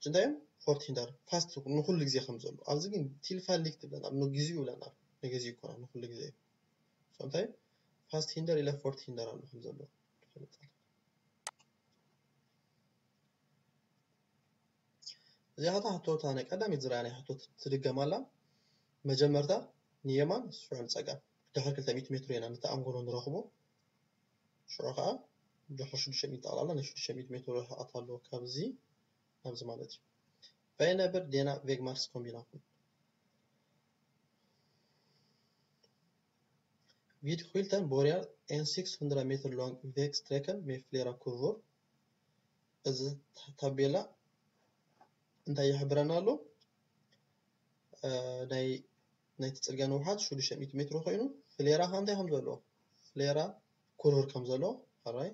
እንታይ እዮም ፎርት ሂንደር ፋስት ንኹሉ ግዜ ከም ዘሎ ኣብዚ ግን ቲልፋሊክ ትብለን ኣብ ንግዚኡ ይብለና ንግዚኡ ይኮና ንኹሉ ግዜ እዩ። እንታይ ፋስት ሂንደር ኢለ ፎርት ሂንደር ኣሎ ከም ዘሎ ትፈልጥ። እዚኣ ኸታ ሕቶታ ናይ ቀዳሚት ዝረኣናይ ሕቶ ትድገም ኣላ። መጀመርታ ንየማን ሽዑ ንጸጋም ድሕሪ ክልተ ሚእቲ ሜትሮ ኢና ነቲ ኣንጎሎ ንረኽቦ። ሽዑ ኸኣ ድሕሪ ሽዱሽተ ሚእቲ ጠቕላላ ናይ ሽዱሽተ ሚእቲ ሜትሮ ርሕቐት ኣለዎ ካብዚ ናብዚ ማለት እዩ። Vad innebär denna vägmärkskombination? Vid Skylten börjar en sexhundra meter lång vägsträcka med flera kurvor. እዚ ታቤላ እንታይ ይሕብረና ኣሎ? ናይ ናይቲ ጽርግያ ንውሓት ሽዱሽተ ሚእቲ ሜትሮ ኮይኑ ፍሌራ ከ እንታይ ከም ዘለዎ ፍሌራ ኩርቭር ከም ዘለዎ ኣራይ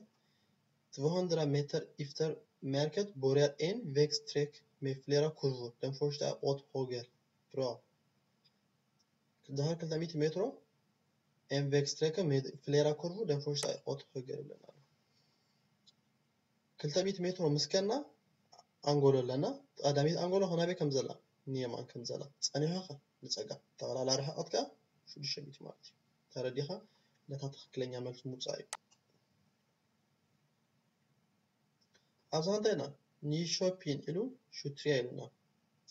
tvåhundra meter efter märket börjar en vägsträcka med flera kurvor. Den första är åt höger. Bra. Dahar ክልተ ሚእቲ ሜትሮ en vägsträcka med flera kurvor. Den första är åt höger ይብለና ኣሎ። ክልተ ሚእቲ ሜትሮ ምስ ከና ኣንጎሎ ኣለና። ቀዳሚት ኣንጎሎ ከናበይ ከም ዘላ ንየማን ከም ዘላ ጸኒሖ ከ ንጸጋም። ጠቕላላ ርሕቐት ከኣ ሽዱሽተ ሚእቲ ማለት እዩ። ተረዲኻ? ነታ ትኽክለኛ መልሲ ምውጻእ እዩ። ኣብዛ እንታይ ኢና? ኒሾፒን ኢሉ ሹትሪያ ኢሉና።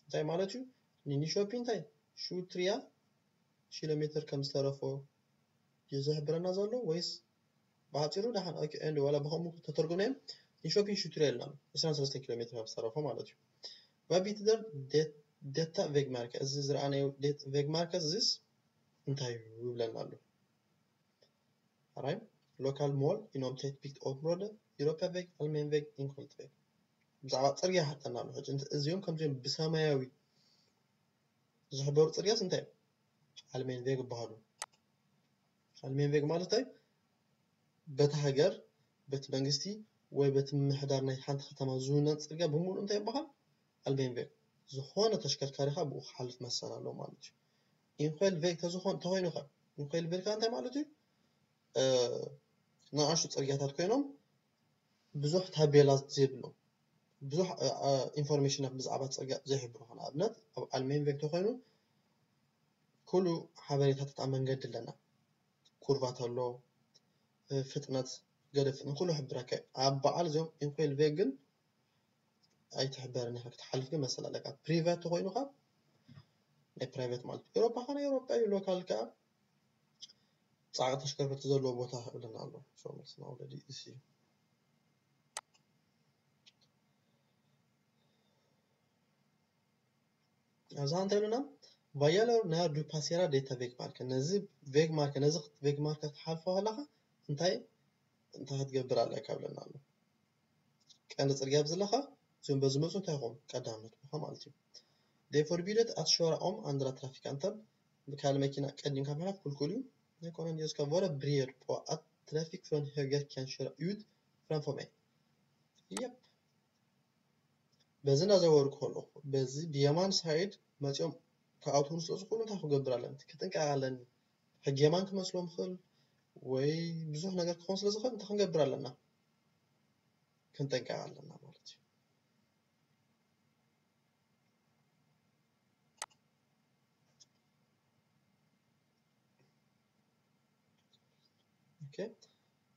እንታይ ማለት እዩ? ንኒሾፒን እንታይ? ሹትሪያ ኪሎ ሜትር ከም ዝተረፎ ድዩ ዝሕብረና ዘሎ ወይስ ብሓፂሩ ደሓን ኦኬ ኤንድ ዋላ ብኸምኡ ተተርጉምናዮም ንሾፒን ሹትሪያ ኢልና ዕስራን ሰለስተን ኪሎ ሜትር ከም ዝተረፎ ማለት እዩ። Vad betyder detta vägmärke? እዚ ዝረኣናዮ vägmärke እዚስ እንታይ እዩ ይብለና ኣሎ። ኣራይ local mål inom tätbyggt område, Europaväg, allmän väg, enskilt väg። ብዛዕባ ፅርግያ ሓተና ኣሎ። ሕጂ እዚኦም ከምዚኦም ብሰማያዊ ዝሕበሩ ፅርግያስ እንታይ እዮም? Allmän väg ይበሃሉ። Allmän väg ማለት እንታይ? በቲ ሃገር፣ በቲ መንግስቲ ወይ በቲ ምምሕዳር ናይ ሓንቲ ከተማ ዝውነን ፅርግያ ብምሉእ እንታይ ይበሃል? Allmän väg። ዝኾነ ተሽከርካሪ ከዓ ብኡ ክሓልፍ መሰል ኣለዎ ማለት እዩ። Enskilt väg ተዝኾን ተኾይኑ ከ? Enskilt väg ከዓ እንታይ ማለት እዩ? ንኣሽቱ ፅርግያታት ኮይኖም ብዙሕ ታቤላ ዘይብሎም ብዙሕ ኢንፎርሜሽናት ብዛዕባ ፅርግያ ዘይሕብሩ ንኣብነት ኣብ allmän väg ተኮይኑ ኩሉ ሓበሬታታት ኣብ መንገዲ ኣለና። ኩርቫ ተሎ ፍጥነት ገለ ፍጥነት ኩሉ ሕብረካ ኣብ በዓል እዚኦም enskilt väg ግን ኣይትሕበርን ኢኻ ክትሓልፍ ግን መሰል ኣለካ። Privat ተኮይኑ ከ ናይ private ማለት ኤውሮፓ ከ ናይ ኤውሮፓ እዩ። Local ከ ጻዕቂ ተሽከርከርቲ ዘለዎ ቦታ ይብለና ኣሎ። So መልስና already እሱ እዩ። ኣብዛ እንታይ ኢሉና? Vad gäller när du passerar detta vägmärke? ነዚ vägmärke ነዚ vägmärke ክትሓልፎ ከለኻ እንታይ እንታይ ክትገብር ኣለካ ይብለና ኣሎ። ቀንዲ ጽርግያ ብዝለኻ እዚኦም በዝመፁ እንታይ ይኾኑ ቀዳምነት ቦታ ማለት እዩ። Det är förbjudet att köra om andra trafikanter. ብካል መኪና ቀዲምካ ምሕላፍ ክልኩል እዩ። ኣይኮነን just ska vara beredd på att trafik från höger kan köra ut framför mig. Yep. በዚ እናዘወርኩ ከለኹ በዚ ብየማን ሳይድ መፂኦም ክኣትዉ ስለ ዝኽእሉ እንታይ ክገብር ኣለኒ? ክጥንቀቕ ኣለኒ። ሕጊ የማን ክመስሎም ይኽእል ወይ ብዙሕ ነገር ክኸውን ስለ ዝኽእል እንታይ ክንገብር ኣለና? ክንጥንቀቕ ኣለና ማለት እዩ። Okay.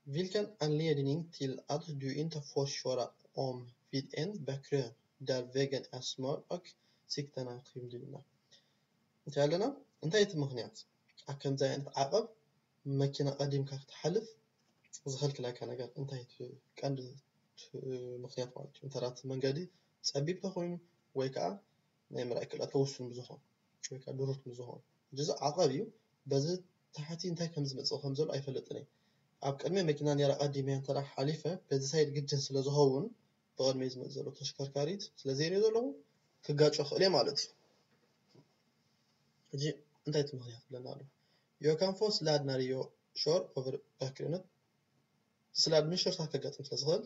Vilken anledning till att du inte får köra om vid en backkrön där vägen är smal och sikten är skymd? እንታይ ኣለና? እንታይ እቲ ምኽንያት ኣብ ከምዚ ዓይነት ዓቐብ መኪና ቀዲምካ ክትሓልፍ ዝኸልክለካ ነገር እንታይ እቲ ቀንዲ ምኽንያት ማለት እዩ? እንተ እቲ መንገዲ ጸቢብ ተኾይኑ ወይ ከዓ ናይ ምርኣይ ክእለትካ ውሱን ብዝኾን ወይ ከዓ ድሩት ብዝኾን እዚ ዓቐብ እዩ። በዚ ታሕቲ እንታይ ከም ዝመጽእ ከም ዘሎ ኣይፈልጥን እየ። ኣብ ቅድሚ መኪና ነራ ቀዲመ እንተ ሓሊፈ በዚ ሳይድ ግድን ስለ ዝኸውን ብቕድሚ ዝመጽእ ዘሎ ተሽከርካሪት ስለ ዘይሪኦ ዘለኹ ክጋጮ ክእል እየ ማለት እዩ። ሕጂ እንታይ እቲ ምኽንያት ብለና ኣሎ? Jag kan få sladd när jag kör över bakkrönet. Sladd ምሽርታት ከጋጥም ስለ ዝኽእል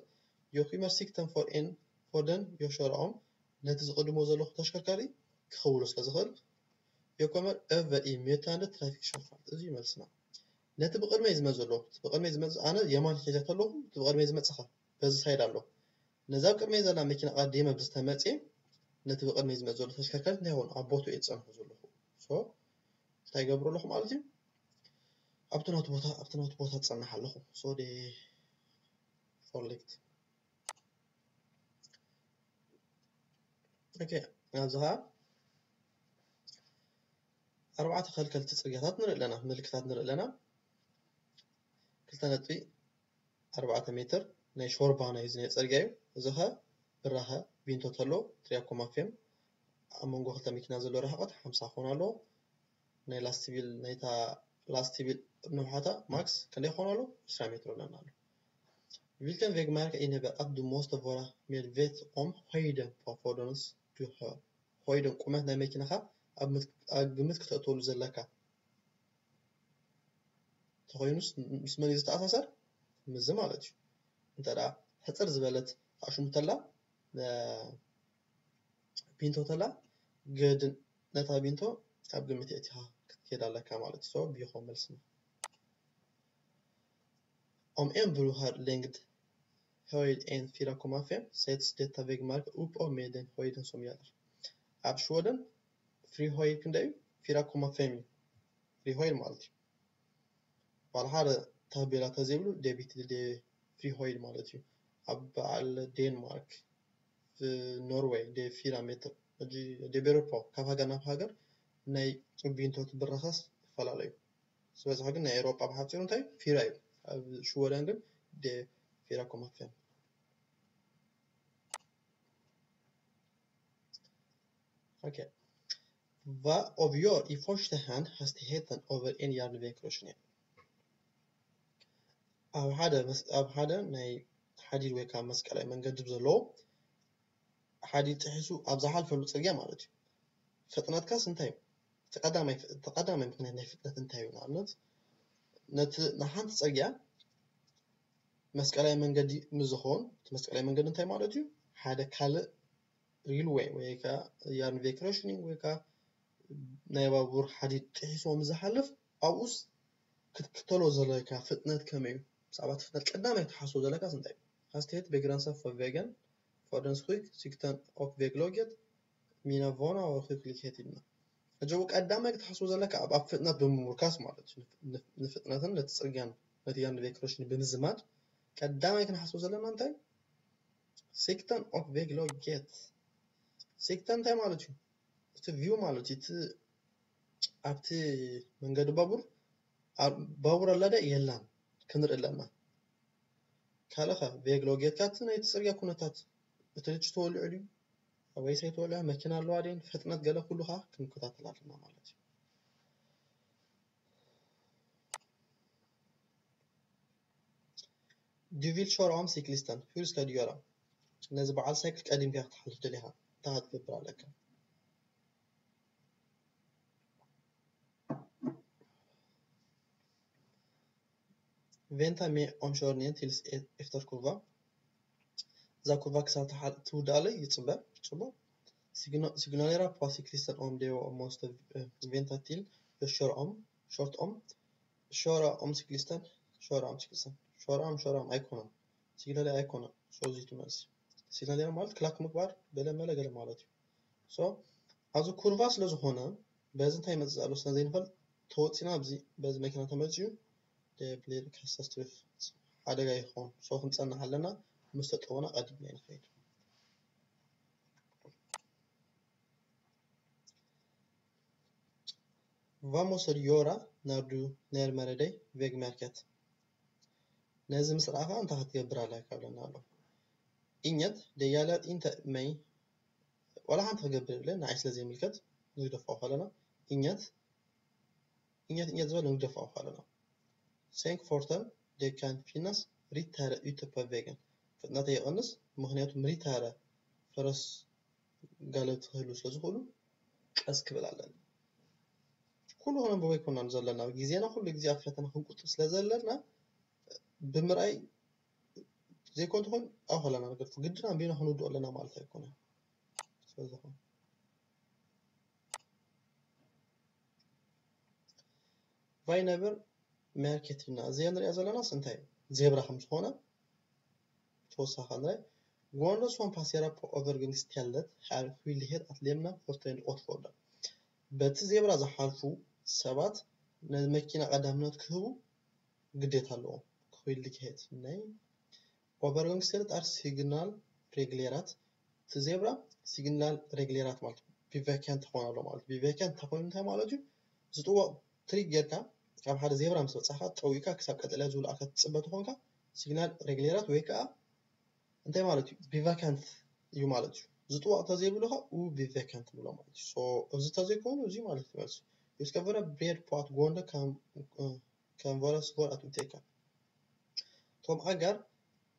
jag skymmer sikten för en för den jag kör om ነቲ ዝቕድሞ ዘለኹ ተሽከርካሪ ክኽውሎ ስለ ዝኽእል jag kommer över i mötande trafiksyfart። እዚ እዩ መልስና። ነቲ ብቕድመይ ዝመጽእ ዘሎ ብቕድመይ ዝመጽእ ኣነ የማን ሒዘ ተለኹ እቲ ብቕድመይ ዝመጽእ ኸ በዚ ሳይድ ኣሎ። ነዛ ኣብ ቅድመይ ዘላ መኪና ቀዲመ ብዝተመፅየ ነቲ ብቕድመይ ዝመፅ ዘሎ ተሽከርካሪት እንታይ ይኸውን ኣብ ቦትኡ እየ ዝፀንሖ ዘለኹ። So እንታይ ይገብሩ ኣለኹ ማለት እዩ? ኣብቲ ናቱ ቦታ ኣብቲ ናቱ ቦታ ዝፀንሕ ኣለኹ። So ደ ፎርሊክት ኦኬ ኣብዚ ኸዓ ኣርባዕተ ከልከልቲ ፅርግያታት ንርኢ ኣለና፣ ምልክታት ንርኢ ኣለና። ክልተ ነጥቢ ኣርባዕተ ሜትር ናይ ሾርባ ናይ እዚ ናይ ፅርግያ እዩ። እዚ ኸ ብራኸ ቢንቶ ተሎ ትሪያኮማፌም ኣብ መንጎ ክልተ መኪና ዘሎ ርሕቐት ሓምሳ ክኾን ኣለዎ። ናይ ላስቲቪል ናይታ ላስት ቢል ንውሓታ ማክስ ክንደይ ክኾን ኣሎ? ዕስራ ሜትር ኣለና ኣሎ። Hvilken vegmærke indebar at du måste være medveten om høyden på forhånd? Du har høyden, ቁመት ናይ መኪናኻ ኣብ ግምት ክተእተሉ ዘለካ ተኾይኑስ ምስ መን እዩ ዝተኣሳሰር? ምስዚ ማለት እዩ። እንተ ደኣ ሕፅር ዝበለት ኣሽሙ ተላ ቢንቶ ተላ ግድን ነታ ቢንቶ ኣብ ግምት የእቲኻ ክትከይድ ኣለካ ማለት እዩ። So ቢኾ መልስና። Om en bro har lengde, høyde en fire komma fem, settes dette veggmerket oppå med den høyden som gjelder. ኣብ ሽወደን ፍሪ ሆይድ ክንደይ እዩ? ፊራ ኮማ ፌም እዩ። ፍሪ ሆይድ ማለት እዩ። ባል ሓደ ታቤላ ተዘይብሉ ዴቢት ደ ፍሪ ሆይድ ማለት እዩ። ኣብ በዓል ዴንማርክ፣ ኖርዌይ ደ ፊራ ሜትር። ሕጂ ደ ቤሮፖ ካብ ሃገር ናብ ሃገር ናይ ቢንቶ ትብረኸስ ይፈላለዩ። ዝበዝሐ ግን ናይ ኤውሮጳ ብሓፂሩ እንታይ ፊራ እዩ። ኣብ ሽወደን ግን ደ ፊራ ኮማ ፌም። Okay. Hva avgjør i første hand hastigheten over en jernbanekrysning? ኣብ ሓደ ኣብ ሓደ ናይ ሓዲድ ወይ ከዓ መስቀላዊ መንገዲ ዘለዎ ሓዲድ ጥሒሱ ኣብ ዝሓልፈሉ ፅርግያ ማለት እዩ። ፍጥነትካስ እንታይ እዩ? እቲ ቀዳማይ ምክንያት ናይ ፍጥነት እንታይ እዩ? ንኣብነት ነቲ ንሓንቲ ፅርግያ መስቀላዊ መንገዲ ምስ ዝኸውን እቲ መስቀላዊ መንገዲ እንታይ ማለት እዩ? ሓደ ካልእ ሪልወይ ወይ ከዓ ያርንቬክረሽኒንግ ወይ ከዓ ናይ ባቡር ሓዲድ ጥሒስዎ ምስ ዝሓልፍ ኣብኡስ ክትክተሎ ዘለካ ፍጥነት ከመይ እዩ? ብዛዕባ እቲ ፍጥነት ቀዳማይ ክትሓስቦ ዘለካስ እንታይ እዩ? Hastighet begrenser for vegen, fordens høyde, sikten og vegglaget, mina vana og høyde likhet. ሕጂ ቀዳማይ ክትሓስቦ ዘለካ ኣብ ኣብ ፍጥነት ብምምርካስ ማለት እዩ። ንፍጥነትን ነቲ ፅርግያን ነቲ ያርንቬክረሽኒ ብምዝማድ ቀዳማይ ክንሓስቦ ዘለና እንታይ? Sikten og vegglaget። ሲክተን እንታይ ማለት እዩ? እቲ ቪው ማለት እዩ። እቲ ኣብቲ መንገዲ ባቡር ባቡር ኣላ ዶ የላን ክንርኢ ኣለና። ካልእኸ ቬግሎጌትካ እቲ ናይቲ ፅርግያ ኩነታት፣ እቲ ልጭ ተወሊዑ ድዩ ወይስ ኣይተወልዐ፣ መኪና ኣለዋ ድየን፣ ፍጥነት ገለ ኩሉ ከዓ ክንከታተል ኣለና ማለት እዩ። Du vil kjøre om syklisten, hur skal du gjøre? ነዚ በዓል ሳይክል ቀዲምካ ክትሓልፍ ደሊኻ እንታይ ክትገብር ኣለካ? Vänta med omkörningen tills efter kurva. እዛ ኩርቫ ክሳብ ትውዳእ ይፅበ። ፅቡቕ። Signalera på cyklisten om de måste vänta till jag kör om, kört om. Köra om cyklisten, köra om cyklisten. Köra om, köra om ኣይኮነን። ሲግናሌራ ኣይኮነን። So እዚ ትመልሲ ሲግናሌራ ማለት ክላክ ምግባር ገለ መለ ገለ ማለት እዩ። So ኣብዚ ኩርቫ ስለ ዝኾነ በዚ እንታይ ይመፅእ ኣሎ ስለ ዘይንፈልጥ ተወፂና ኣብዚ በዚ መኪና ተመፅዩ ደብሊር ካታስትሮፍ ሓደጋ ይኸውን። So ክንፀንሕ ኣለና ምስ ተጠወና ቀዲምና ንኸይድ። Hva måste du gjøre når du nærmer deg veggmerket? ነዚ ምስ ረኣኻ እንታይ ክትገብር ኣለካ ይብለና ኣሎ። Inget, det gjelder inte mig. ዋላ ሓንቲ ክገብር የብለይን፣ ንዓይ ስለ ዘይምልከት ንግደፎ ከለና inget inget inget ዝበል ንግደፎ ከለና። Sänk farten, det kan finnas ryttare ute på vägen. ፍጥነተይ ይቐንስ፣ ምኽንያቱ ሪታረ ፈረስ ጋለብቲ ክህልዉ ስለ ዝኽእሉ ቀስ ክብል ኣለኒ። ኩሉ ክነንብቦ ኣይኮናን ዘለና፣ ግዜና ኩሉ ግዜ ኣብ ፈተና ክንቁጥብ ስለ ዘለና ብምርኣይ ዘይኮን ትኾን ኣብኡ ከለና ንገድፎ፣ ግድን ኣንቢብና ክንውድኦ ኣለና ማለት ኣይኮነን። ስለዝኾነ ቫይነብር መርኬት ኢልና እዚኣ ንሪኣ ዘለናስ እንታይ እዩ? ዜብራ ከም ዝኾነ ተወሳኺ ንርኢ። Gående som passerer på overgangsstället har skyldighet att lämna farten åt föraren. በቲ ዜብራ ዝሓልፉ ሰባት ንመኪና ቀዳምነት ክህቡ ግዴታ ኣለዎም። Skyldighet, nej. Overgangsstället är signalreglerat. እቲ ዜብራ ሲግናል ሬግሌራት ማለት ቢቨከንት ክኾን ኣሎ ማለት። ቢቨከንት ተኾይኑ እንታይ ማለት እዩ? ዝጥወቕ ትሪክ ጌርካ ካብ ሓደ ዜብራ ምስ በፃኻ ጠዊካ ክሳብ ቀጠልያ ዝውልኣካ ትፅበ ተኾንካ ሲግናል ሬግሌራት ወይ ከዓ እንታይ ማለት እዩ? ቢቨከንት እዩ ማለት እዩ። ዝጥወቕ ተዘይብሉ ከዓ ኡ ቢቨከንት ንብሎ ማለት እዩ። So እዚ ተዘይኮይኑ እዚ ማለት እዩ መልሲ። Hvis du skal være beredt på at gående kan, eh, kan være svært at oppdage. እቶም ኣጋር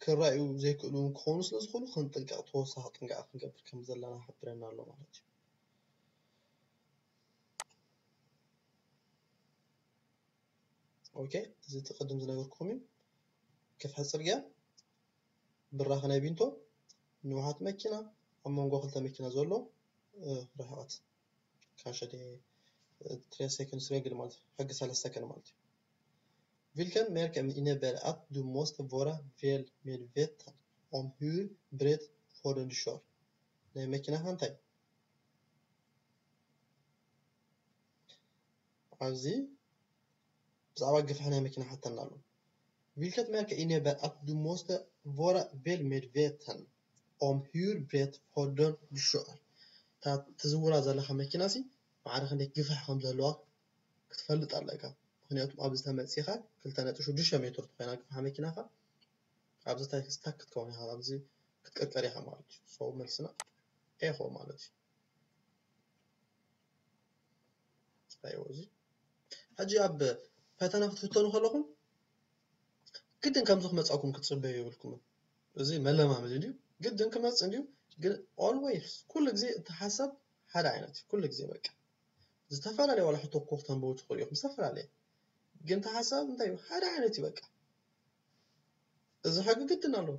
ክረኣዩ ዘይክእሉ ክኾኑ ስለ ዝኽእሉ ክንጥንቀቕ፣ ተወሳኺ ጥንቃቐ ክንገብር ከም ዘለና ይሕብረና ኣሎ ማለት እዩ። ኦኬ፣ እዚ እቲ ቅድም ዝነገርኩኹም እዩ። ክፍሒ ጽርግያ፣ ብራኸ ናይ ቢንቶ፣ ንውሓት መኪና፣ ኣብ መንጎ ክልተ መኪና ዘሎ ርሕቐት ካንሸ ትሬ ሰከንድ ሬግል ማለት እዩ። ሕጊ ሰለስተ ሰከንድ ማለት እዩ። Hvilken mærke innebærer at du måste være vel medveten om hvor bredt fordon du kjører? ናይ መኪናኻ እንታይ ኣብዚ ብዛዕባ ግፍሒ ናይ መኪና ሓተና ኣሎ። Hvilket mærke innebærer at du måste være vel medveten om hvor bredt fordon du kjører? እታ ትዝውራ ዘለኻ መኪና ሲ ማዕረ ክንደይ ግፍሒ ከም ዘለዋ ክትፈልጥ ኣለካ። ምክንያቱም ኣብዚ ተመፂኻ ክልተ ነጥቢ ሽዱሽተ ሜትር ተኮይና ግፍሓ መኪናኻ ኣብዚ ታይ ስታክ ክትከውን ኢኻ፣ ኣብዚ ክትቀርቀር ኢኻ ማለት እዩ። So መልስና ኤ ይኸውን ማለት እዩ። ኣይዎ እዚ ሕጂ ኣብ ፈተና ክትፍተኑ ከለኹም ግድን ከምዚ ክመፃኩም ክትፅበዩ የብልኩምን። እዚ መለማመዲ እንድዩ፣ ግድን ክመፅእ እንድዩ። ግን always ኩሉ ግዜ እቲ ሓሳብ ሓደ ዓይነት እዩ። ኩሉ ግዜ በቃ ዝተፈላለየ ዋላ ሕቶ እኮ ክተንብቡ ትኽእሉ ኢኹም ዝተፈላለየ፣ ግን እቲ ሓሳብ እንታይ እዩ? ሓደ ዓይነት እዩ በቃ። እዚ ሕጊ ግድን ኣሎ።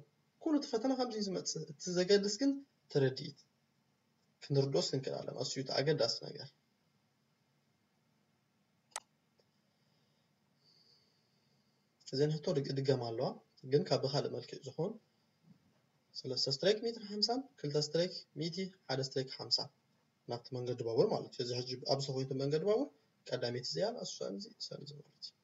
ኩሉ እቲ ፈተና ከምዚ እዩ ዝመፅእ። እቲ ዘገድስ ግን ትርድኢት ክንርድኦስ ክንክእል ኣለና። እሱ እዩ እቲ ኣገዳሲ ነገር። እዘን ሕቶ ድግ- ድገማ ኣለዋ፣ ግን ካብ ብካልእ መልክዕ ዝኾን ሰለስተ ስትሬክ ሚእትን ሓምሳን፣ ክልተ ስትሬክ ሚእቲ፣ ሓደ ስትሬክ ሓምሳ ናብቲ መንገዲ ባቡር ማለት እዩ። እዚ ሕጂ ኣብ ዝኾይንቱ መንገዲ ባቡር ቀዳመይቲ እዚኣ እሱ ሰንዚ ሰንዚ ማለት እዩ።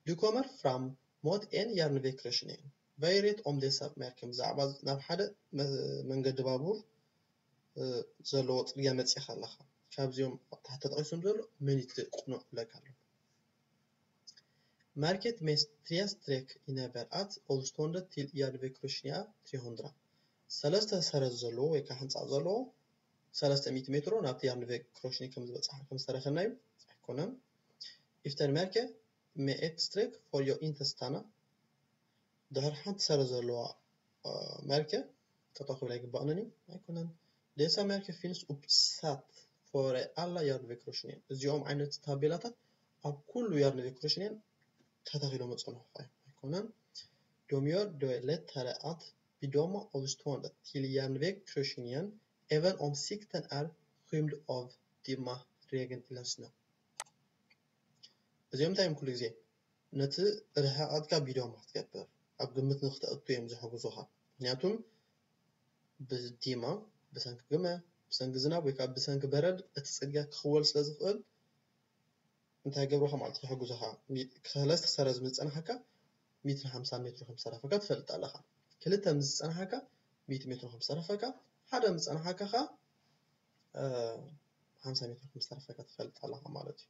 Du kommer fram mot en jernvägkryssning. Variet om dessa mærken ብዛዕባ ናብ ሓደ መ- መንገዲ ባቡር እ፣ ዘለዎ ፅርግያ መፂእኻ ኣለኻ። ካብዚኦም ኣብ ታሕቲ ተጠቂሶም ዘሎ መን እዩ እቲ ቅኑዕ ብለካ ኣሎ። Mærket med tre streck innebærer at avstånden til jernvägkryssningen er tre hundre. ሰለስተ ሰረዝ ዘለዎ ወይ ከዓ ሕንፃ ዘለዎ ሰለስተ ሚእቲ ሜትሮ ናብቲ ጃርንቬግ ክሮሽኒ ከም ዝበፅሓ ከም ዝተረኸብናዩ ኣይኮነን። Efter mærke med et streck får jeg ikke stanna. ድሕሪ ሓንቲ ሰረዝ ዘለዋ እ፣ መርኬ ጠጠው ክብል ኣይግባእንን እዩ ኣይኮነን። Dessa mærker finnes oppsatt for alle jernvägkryssninger. እዚኦም ዓይነት ታቤላታት ኣብ ኩሉ ጃርንቬግ ክሮሽኒየን ተተኺሎም መፀንሑ ኣይኮነን። De gjør det lettere at bedømme avstånden til jernvägkryssningen, even om sikten er skymd av dimma, regn eller snø. እዚኦም እንታይ እዮም ኩሉ ግዜ ነቲ ርሕቐትካ ቢዶማ ክትገብር ኣብ ግምት ንክተእቱ እዮም ዝሕግዙኻ። ምክንያቱም ብዲማ፣ ብሰንኪ ግመ፣ ብሰንኪ ዝናብ ወይ ከዓ ብሰንኪ በረድ እቲ ፅርግያ ክኽወል ስለ ዝኽእል እንታይ ገብሩኻ ማለት ይሕግዙኻ። ሰለስተ ሰረዝ ምስ ዝፀናሓካ ሚእትን ሓምሳን ሜትሮ ከም ዝተረፈካ ትፈልጥ ኣለኻ። ክልተ ምስ ዝፀናሓካ ሚእቲ ሜትሮ ከም ዝተረፈካ፣ ሓደ ምስ ዝፀናሓካ ከዓ ሓምሳ ሜትሮ ከም ዝተረፈካ ትፈልጥ ኣለኻ ማለት እዩ።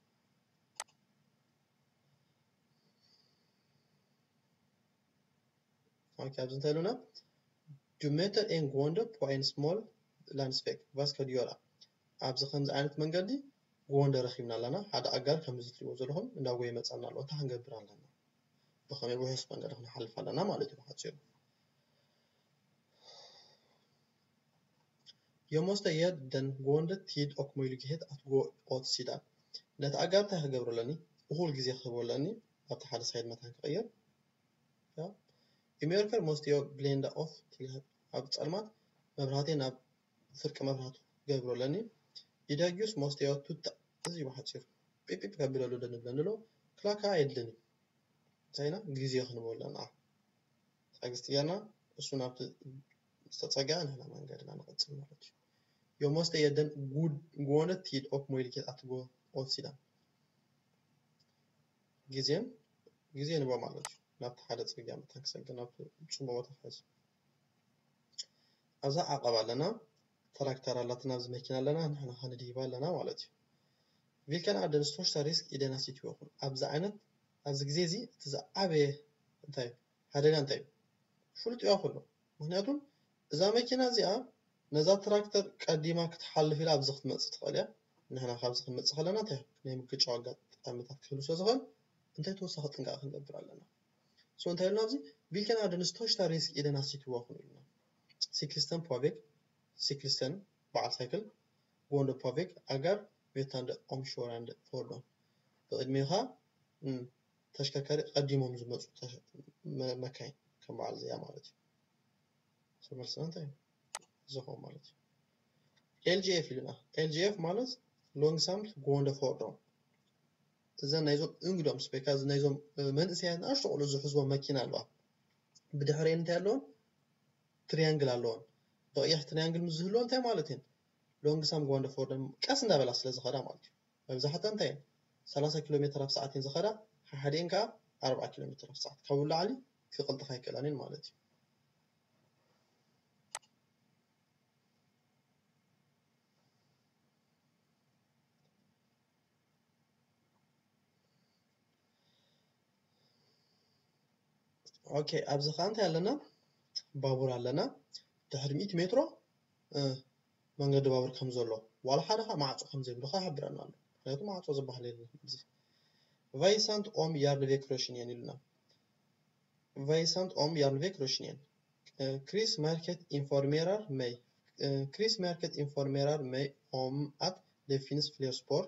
ኦኬ፣ ኣብዚ እንታይ ኢሉና? Du møter en gående på en smal landsvej. Vad skal du gjøre? ኣብዚ ከምዚ ዓይነት መንገዲ ጎንደ ረኺብና ኣለና። ሓደ ኣጋር ከምዚ ትሪእዎ ዘለኹም እንዳጎየ ይመፀና ኣሎ። እንታይ ክንገብር ኣለና? ብኸመይ ውሑስ መንገዲ ክንሓልፍ ኣለና ማለት እዩ ብሓፂሩ። Jeg måste gi den gående tid og mulighet at gå åt siden. ነቲ ኣጋር እንታይ ክገብሮ ኣለኒ? እኹል ግዜ ክህቦ ኣለኒ። ኣብቲ ሓደ ሳይድ መታን ክቕይር። I mørke måste jeg blende av til ኣብ ፀልማት መብራህቴ ናብ ፍርቂ መብራህቱ ክገብሮ ኣለኒ። I dag måste jeg tutta እዚ ብሓፂሩ ጲጲ ከቢለሉ ደንብለኒ ኣሎ። ክላካ ኣየድልን እዩ። እንታይ ኢና ግዜ ክንቦ ኣለና። ትዕግስቲ ጌርና እሱ ናብቲ ዝተፀግዐ ንሕና መንገድና ንቐፅል ማለት እዩ። Jeg måste gi den gående tid og mulighet at gå åt siden. ግዜን ግዜ ንቦ ማለት እዩ። ናብቲ ሓደ ፅርግያ መታን ክሰግር ናብቲ ፅቡቅ ቦታ ክሕዝ። ኣብዛ ዓቐብ ኣለና፣ ትራክተር ኣላትና፣ ኣብዚ መኪና ኣለና፣ ንሕና ከነድይባ ኣለና ማለት እዩ። Hvilken er den største risk i denne situation? ኣብዚ ዓይነት ኣብዚ ግዜ እዚ እቲ ዝዓበየ እንታይ ሓደጋ እንታይ እዩ? ፍሉጥ እዩ ኩሉ። ምክንያቱም እዛ መኪና እዚኣ ነዛ ትራክተር ቀዲማ ክትሓልፍ ኢላ ኣብዚ ክትመፅእ ትኽእል እያ። ንሕና ካብዚ ክንመጽእ ከለና እንታይ ናይ ምግጫው ኣጋጣሚታት ክህሉ ስለ ዝኽእል እንታይ ተወሳኺ ጥንቃቐ ክንገብር ኣለና? So እንታይ ኢልና ኣብዚ? Vilken är den största risk i den här situationen ኢልና። Cyklisten på väg, cyklisten በዓል ሳይክል፣ gående på väg ኣጋር፣ mötande omkörande fordon ብቕድሜኻ ተሽከርካሪ ቀዲሞም ዝመፁ መካይን ከም በዓል እዚኣ ማለት እዩ። መልስና እንታይ እዩ? ዝኸውን ማለት እዩ። L G F ኢልና። L G F ማለት långsamt gående fordon። እዘን ናይዞም ungdomsbilar፣ ናይዞም መንእሰያት ንኣሽቱ ቆልዑ ዝሕዝዎ መኪና ኣለዋ። ብድሕሪኤን እንታይ ኣለዎን? ትሪያንግል ኣለዎን። ብቐይሕ ትሪያንግል ምስ ዝህልዎ እንታይ ማለት እየን? Långsamt gående fordon፣ ቀስ እንዳበላ ስለ ዝኸዳ ማለት እዩ። መብዛሕትኣን እንታይ እየን? ሰላሳ ኪሎ ሜትር ኣብ ሰዓት እየን ዝኸዳ። ሓሓዲኤን ከዓ ኣርብዓ ኪሎ ሜትር ኣብ ሰዓት፣ ካብኡ ንላዕሊ ክቕልጥፋ ኣይክእላን እየን ማለት እዩ። ኦኬ፣ ኣብዚ ኸዓ እንታይ ኣለና? ባቡር ኣለና። ድሕሪ ሚእቲ ሜትሮ መንገዲ ባቡር ከም ዘሎ፣ ዋላ ሓደ ኸዓ ማዕጾ ከም ዘይብሉ ኸዓ ይሕብረና ኣሎ። ምኽንያቱ ማዕጾ ዝበሃል የለን። Hur sant om järnvägskryssningen ኢሉና። Hur sant om järnvägskryssningen. Krismärket informerar mig. Krismärket informerar mig om att det finns fler spår.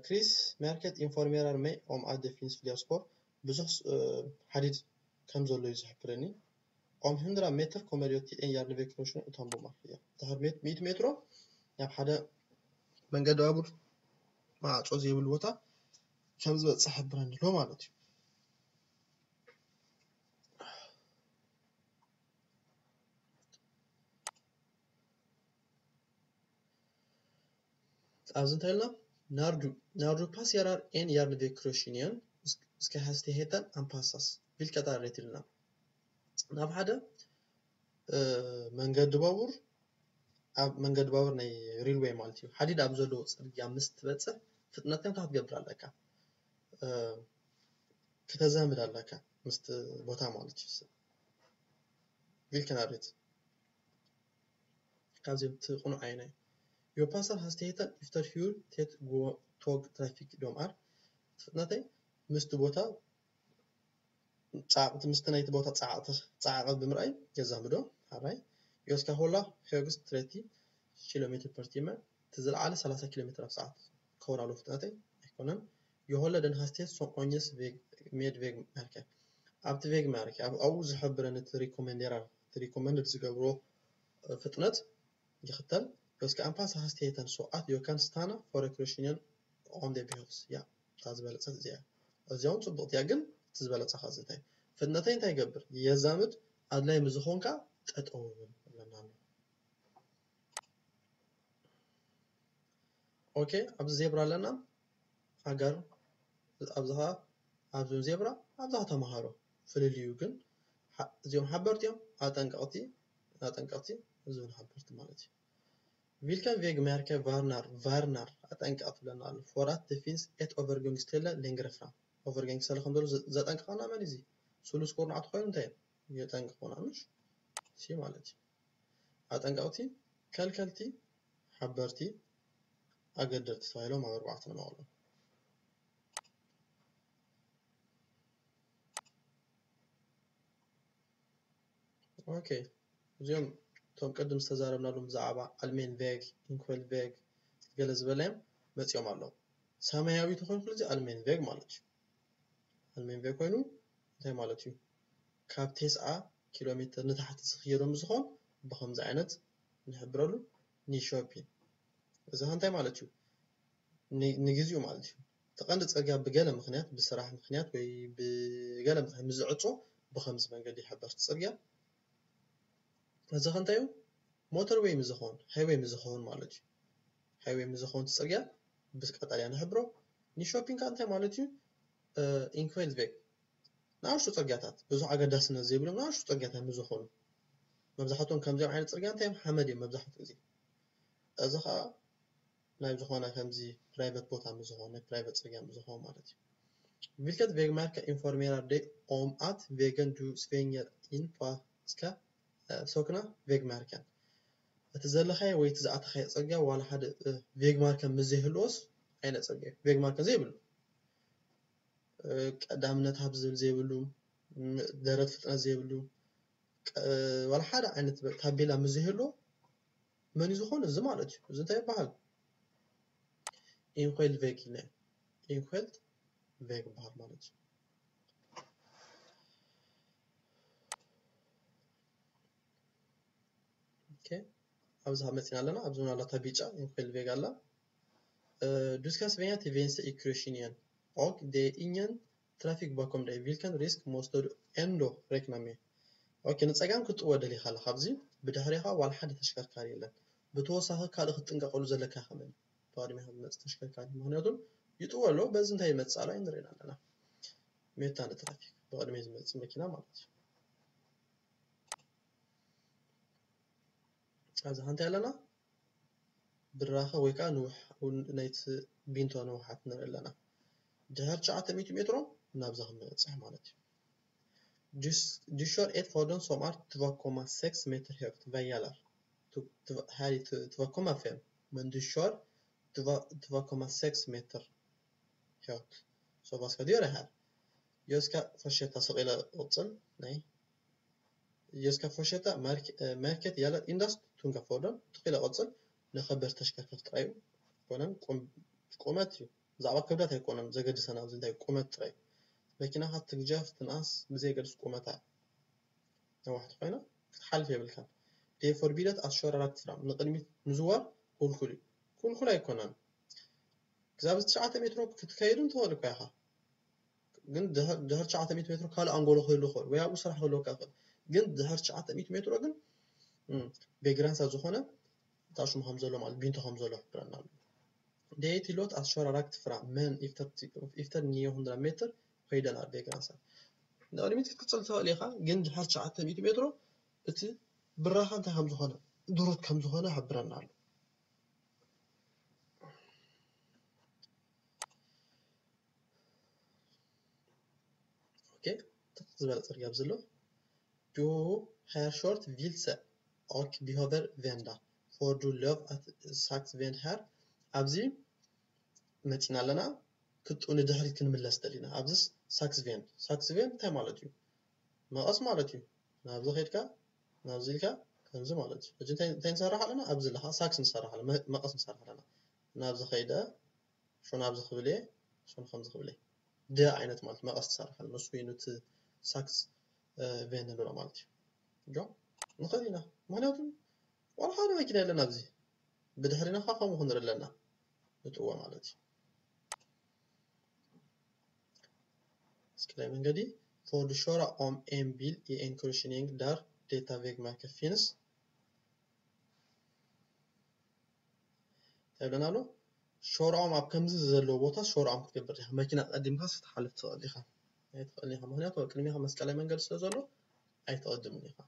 Krismärket informerar mig om att det finns fler spår. ብዙሕ ሓዲድ ከም ዘሎ እዩ ዝሕብረኒ። Om hundra meter kommer jag till en järnvägskryssning utan bommar. ድሕሪ ሚእቲ ሜትሮ ናብ ሓደ መንገዲ ባቡር ማዕጾ ዘይብሉ ቦታ ከም ዝበጽሕ ይሕብረኒ ኣሎ ማለት እዩ። ኣብዚ እንታይ ኢልና? När du passerar en järnvägskryssning ska hastigheten anpassas. Vilket är rätt ኢልና? ናብ ሓደ መንገዲ ባቡር፣ ኣብ መንገዲ ባቡር ናይ ሬልዌይ ማለት እዩ፣ ሓዲድ ኣብ ዘለዎ ጽርግያ ምስ ትበጽሕ ፍጥነትካ እንታይ ክትገብር ኣለካ? ክተዛምድ ኣለካ ምስቲ ቦታ ማለት እዩ። Vilken är rätt? ካብዚኦም እቲ ቅኑዕ ኣየናይ? Jag passar hastigheten efter hur tätt tågtrafiken är. ፍጥነተይ ምስቲ ቦታ ጻዕቕቲ፣ ምስቲ ናይቲ ቦታ ጻዕቕቲ፣ ጻዕቐት ብምርኣይ የዛምዶ። ሓራይ። Jag ska hålla högst trettio kilometer per timme፣ እቲ ዝለዓለ ሰላሳ ኪሎ ሜትር ኣብ ሰዓት ክኸውን ኣለዎ ፍጥነተይ። ኣይኮነን። Jag håller den hastighet som anges ved vägmärket። ኣብቲ ቬግማርክ ኣብኡ ዝሕብረኒ እቲ ሪኮመንደራ፣ እቲ ሪኮመንድ ዝገብሮ ፍጥነት ይኽተል። Jag ska anpassa hastigheten så att jag kan stanna före kryssningen om det behövs. Ja, እታ ዝበለጸት እዚኣ። እዚኣ እውን ጽቡቕቲ እያ፣ ግን እቲ ዝበለጸ ከኣ እንታይ? ፍጥነተይ እንታይ ይገብር? የዛምድ፣ ኣድላይ ምስ ዝኾንካ ጠጠው ይብል ይብለና ኣሎ። ኦኬ፣ ኣብዚ ዜብራ ኣለና። ኣጋር ኣብዚ ኸዓ ኣብዚ ዜብራ ኣብዚ ኸዓ ተምሃሮ። ፍልልዩ ግን እዚኦም ሓበርቲ እዮም፣ ኣጠንቀቕቲ ኣጠንቀቕቲ፣ እዚ እውን ሓበርቲ ማለት እዩ። Vilken vägmärke varnar? Varnar፣ ኣጠንቀቕ ትብለና ኣሎ። För att det finns ett övergångsställe längre fram። Övergångsställe ከም ዘሎ ዘጠንቀቐና መን እዚ? ስሉስ ኩርናዕ ተኾይኑ እንታይ የጠንቀቑና? ምሽ ሲ ማለት እዩ። ኣጠንቀቕቲ፣ ከልከልቲ፣ ሓበርቲ፣ ኣገደድቲ ተባሂሎም ኣብ ኣርባዕተ ንመቐሎም። ኦኬ፣ እዚኦም እቶም ቅድም ዝተዛረብናሎም ብዛዕባ ኣልሜን ቬግ፣ ኢንኮል ቬግ ገለ ዝበለ እዮም መፂኦም ኣለዉ። ሰማያዊ ተኾይኑ እዚ ኣልሜን ቬግ ማለት እዩ። ኣልሜን ቬግ ኮይኑ እንታይ ማለት እዩ? ካብ ተስዓ ኪሎ ሜትር ንታሕቲ ዝኽየዶ ምስ ዝኾን ብኸምዚ ዓይነት ንሕብረሉ። ኒሾፒን እዚ እንታይ ማለት እዩ? ንግዜኡ ማለት እዩ። እቲ ቀንዲ ጽርግያ ብገለ ምኽንያት፣ ብስራሕ ምኽንያት ወይ ብገለ ምኽንያት ምስ ዝዕጾ ብኸምዚ መንገዲ ይሕበር እቲ ጽርግያ። እዚ ከ እንታይ እዩ? ሞተርዌይ ምስ ዝኾን፣ ሃይዌይ ምስ ዝኾን ማለት እዩ። ሃይዌይ ምስ ዝኾን እቲ ጽርግያ ብቀጠልያ ንሕብሮ። ኒሾፒን ከ እንታይ ማለት እዩ? ኢንኮይል ቬግ ንኣሽቱ ጽርግያታት፣ ብዙሕ ኣገዳስነት ዘይብሎም ንኣሽቱ ጽርግያታት ምስ ዝኾኑ፣ መብዛሕትኦም ከምዚኦም ዓይነት ጽርግያ እንታይ እዮም? ሓመድ እዮም መብዛሕትኡ ግዜ። እዚ ኸኣ ናይ ዝኾነ ከምዚ ፕራይቨት ቦታ ምስ ዝኾነ፣ ናይ ፕራይቨት ጽርግያ ምስ ዝኾነ ማለት እዩ። Vilket vägmärke informerar dig om att vägen du svänger in på ska ሶክና ቬግማርከን እቲ ዘለኻዮ ወይ እቲ ዝኣተኻዮ ፅርግያ ዋላ ሓደ ቬግማርከን ምስ ዘይህልዎስ ኣይነ ፅርግያ ቬግማርከን ዘይብሉ ቀዳምነት ሃብ ዝብል ዘይብሉ ደረት ፍጥነት ዘይብሉ ዋላ ሓደ ዓይነት ታቤላ ምስ ዘይህልዎ መን እዩ ዝኾነ እዚ ማለት እዩ። እዚ እንታይ ይበሃል? ኢንኮይል ቬግ ኢለ ኢንኮይል ቬግ ይበሃል ማለት እዩ። ኦኬ ኣብዚ መፂና ኣለና። ኣብዚ እውን ኣላታ ቢጫ ኢንኮይል ቬግ ኣላ። Du skal svinge til venstre i krydsningen, og det er ingen trafikk bakom deg. Hvilken risk måste du enda regne med? ኦኬ ንፀጋም ክትጥወ ደሊኻ ኣለኻ። ኣብዚ ብድሕሪኻ ዋላ ሓደ ተሽከርካሪ የለን። ብተወሳኺ ካልእ ክትጥንቀቀሉ ዘለካ ከመን ብቅድሚኻ ዝመፅእ ተሽከርካሪ ምክንያቱ ይጥወ ኣሎ። በዚ እንታይ ይመፅእ ኣሎ ንሪእና ኣለና። ሜታ ንትራፊክ ብቅድሚ ዝመፅእ መኪና ማለት እዩ። ኣብዚ ሓንቲ ኣለና ብራኸ ወይ ከዓ ናይቲ ቢንቶ ንውሓት ንርኢ ኣለና። ድሕር ትሽዓተ ሚእቲ ሜትሮ ናብዚ ክምበፅሕ ማለት እዩ። Du kjører et fordon som er två komma seks meter høyt, veier her i två komma fem, men du kjører två komma seks meter høyt. Så hva skal du gjøre her? Jag ska fortsätta, så illa åtsen. Nej. Jag ska fortsätta, märket gäller endast tunga fordon. ትኽኢለ ቀፅል ንኸበድ ተሽከርከርቲ ጥራይ እዩ። ኮነን ቁመት እዩ። ብዛዕባ ክብደት ኣይኮነን ዘገድሰና ኣብዚ እንታይ ቁመት ጥራይ መኪናኻ ትግጀፍ ትንኣስ ብዘየገድስ ቁመታ ነዋሕቲ ኮይና ክትሓልፍ የብልካን። Det er forbudet att köra rakt fram ንቅድሚት ምዝዋር ኩልኩል እዩ። ኩልኩል ኣይኮነን። ክሳብ ትሽዓተ ሜትሮ ክትከይድ ትኽእል እኳ ኢኻ። ግን ድሕር ትሽዓተ ሚእቲ ሜትሮ ካልእ ኣንጎሎ ክህሉ ይኽእል ወይ ኣብኡ ስራሕ ክህልወካ ይኽእል። ግን ድሕር ትሽዓተ ሚእቲ ሜትሮ ግን ቤግራንሳ ዝኾነ እታ ሽሙ ከም ዘሎ ማለት ቢንቶ ከም ዘሎ ይሕብረና ኣሎ። Det er tillatt å kjøre rakt fram, men efter niohundra meter høyden er begrenset. ንቕድሚት ክትቅፅል ትኽእል ኢኻ፣ ግን ድሕር ትሽዓተ ሚእቲ ሜትሮ እቲ ብራኻ እንታይ ከም ዝኾነ ድሩት ከም ዝኾነ ይሕብረና ኣሎ። ኦኬ ትኽ ዝበለ ፅርግያ ኣብዚ ኣሎ። Du har kjørt vilse og behøver vende. Får du lov at saksvend her? ኣብዚ መፂና ኣለና። ክጡ ንድሕሪት ክንምለስ ደሊና። ኣብዚ ሳክስቬን ሳክስቬን እንታይ ማለት እዩ? መቐስ ማለት እዩ። ናብዚ ከይድካ ናብዚ ኢልካ ከምዚ ማለት እዩ። ሕጂ እንታይ እንታይ ንሰርሕ ኣለና? ኣብዚ ኣለኻ ሳክስ ንሰርሕ ኣለና፣ መ- መቐስ ንሰርሕ ኣለና። ናብዚ ከይደ ሾ ናብዚ ክብል እየ፣ ሾ ንከምዚ ክብል እየ። ደ ዓይነት ማለት መቐስ ትሰርሕ ኣለና። ንሱ እዩ ነቲ ሳክስ እ፣ ቬን ንብሎ ማለት እዩ። ጆ ንኽእል ኢና። ምክንያቱ ዋላ ሓደ መኪና የለን ኣብዚ። ብድሕሪና ከዓ ከምኡ ክንርኢ ኣለና። ንጥዎ ማለት እዩ። እስኪ ናይ መንገዲ ፎርድ ሾራ ኦም ኤምቢል ኢኤንክሩሽኒንግ ዳር ዴታ ቬግ ማይከፊንስ ይብለና ኣሎ። ሾርዖም ኣብ ከምዚ ዘለዎ ቦታ ሾርዖም ክትገብር ኢኻ። መኪና ቀዲምካ ክትሓልፍ ትኽእል ኢኻ። ኣይትኽእልን ኢኻ። ምክንያቱ ኣብ ቅድሚኻ መስቀላይ መንገዲ ስለ ዘሎ ኣይትቐድምን ኢኻ።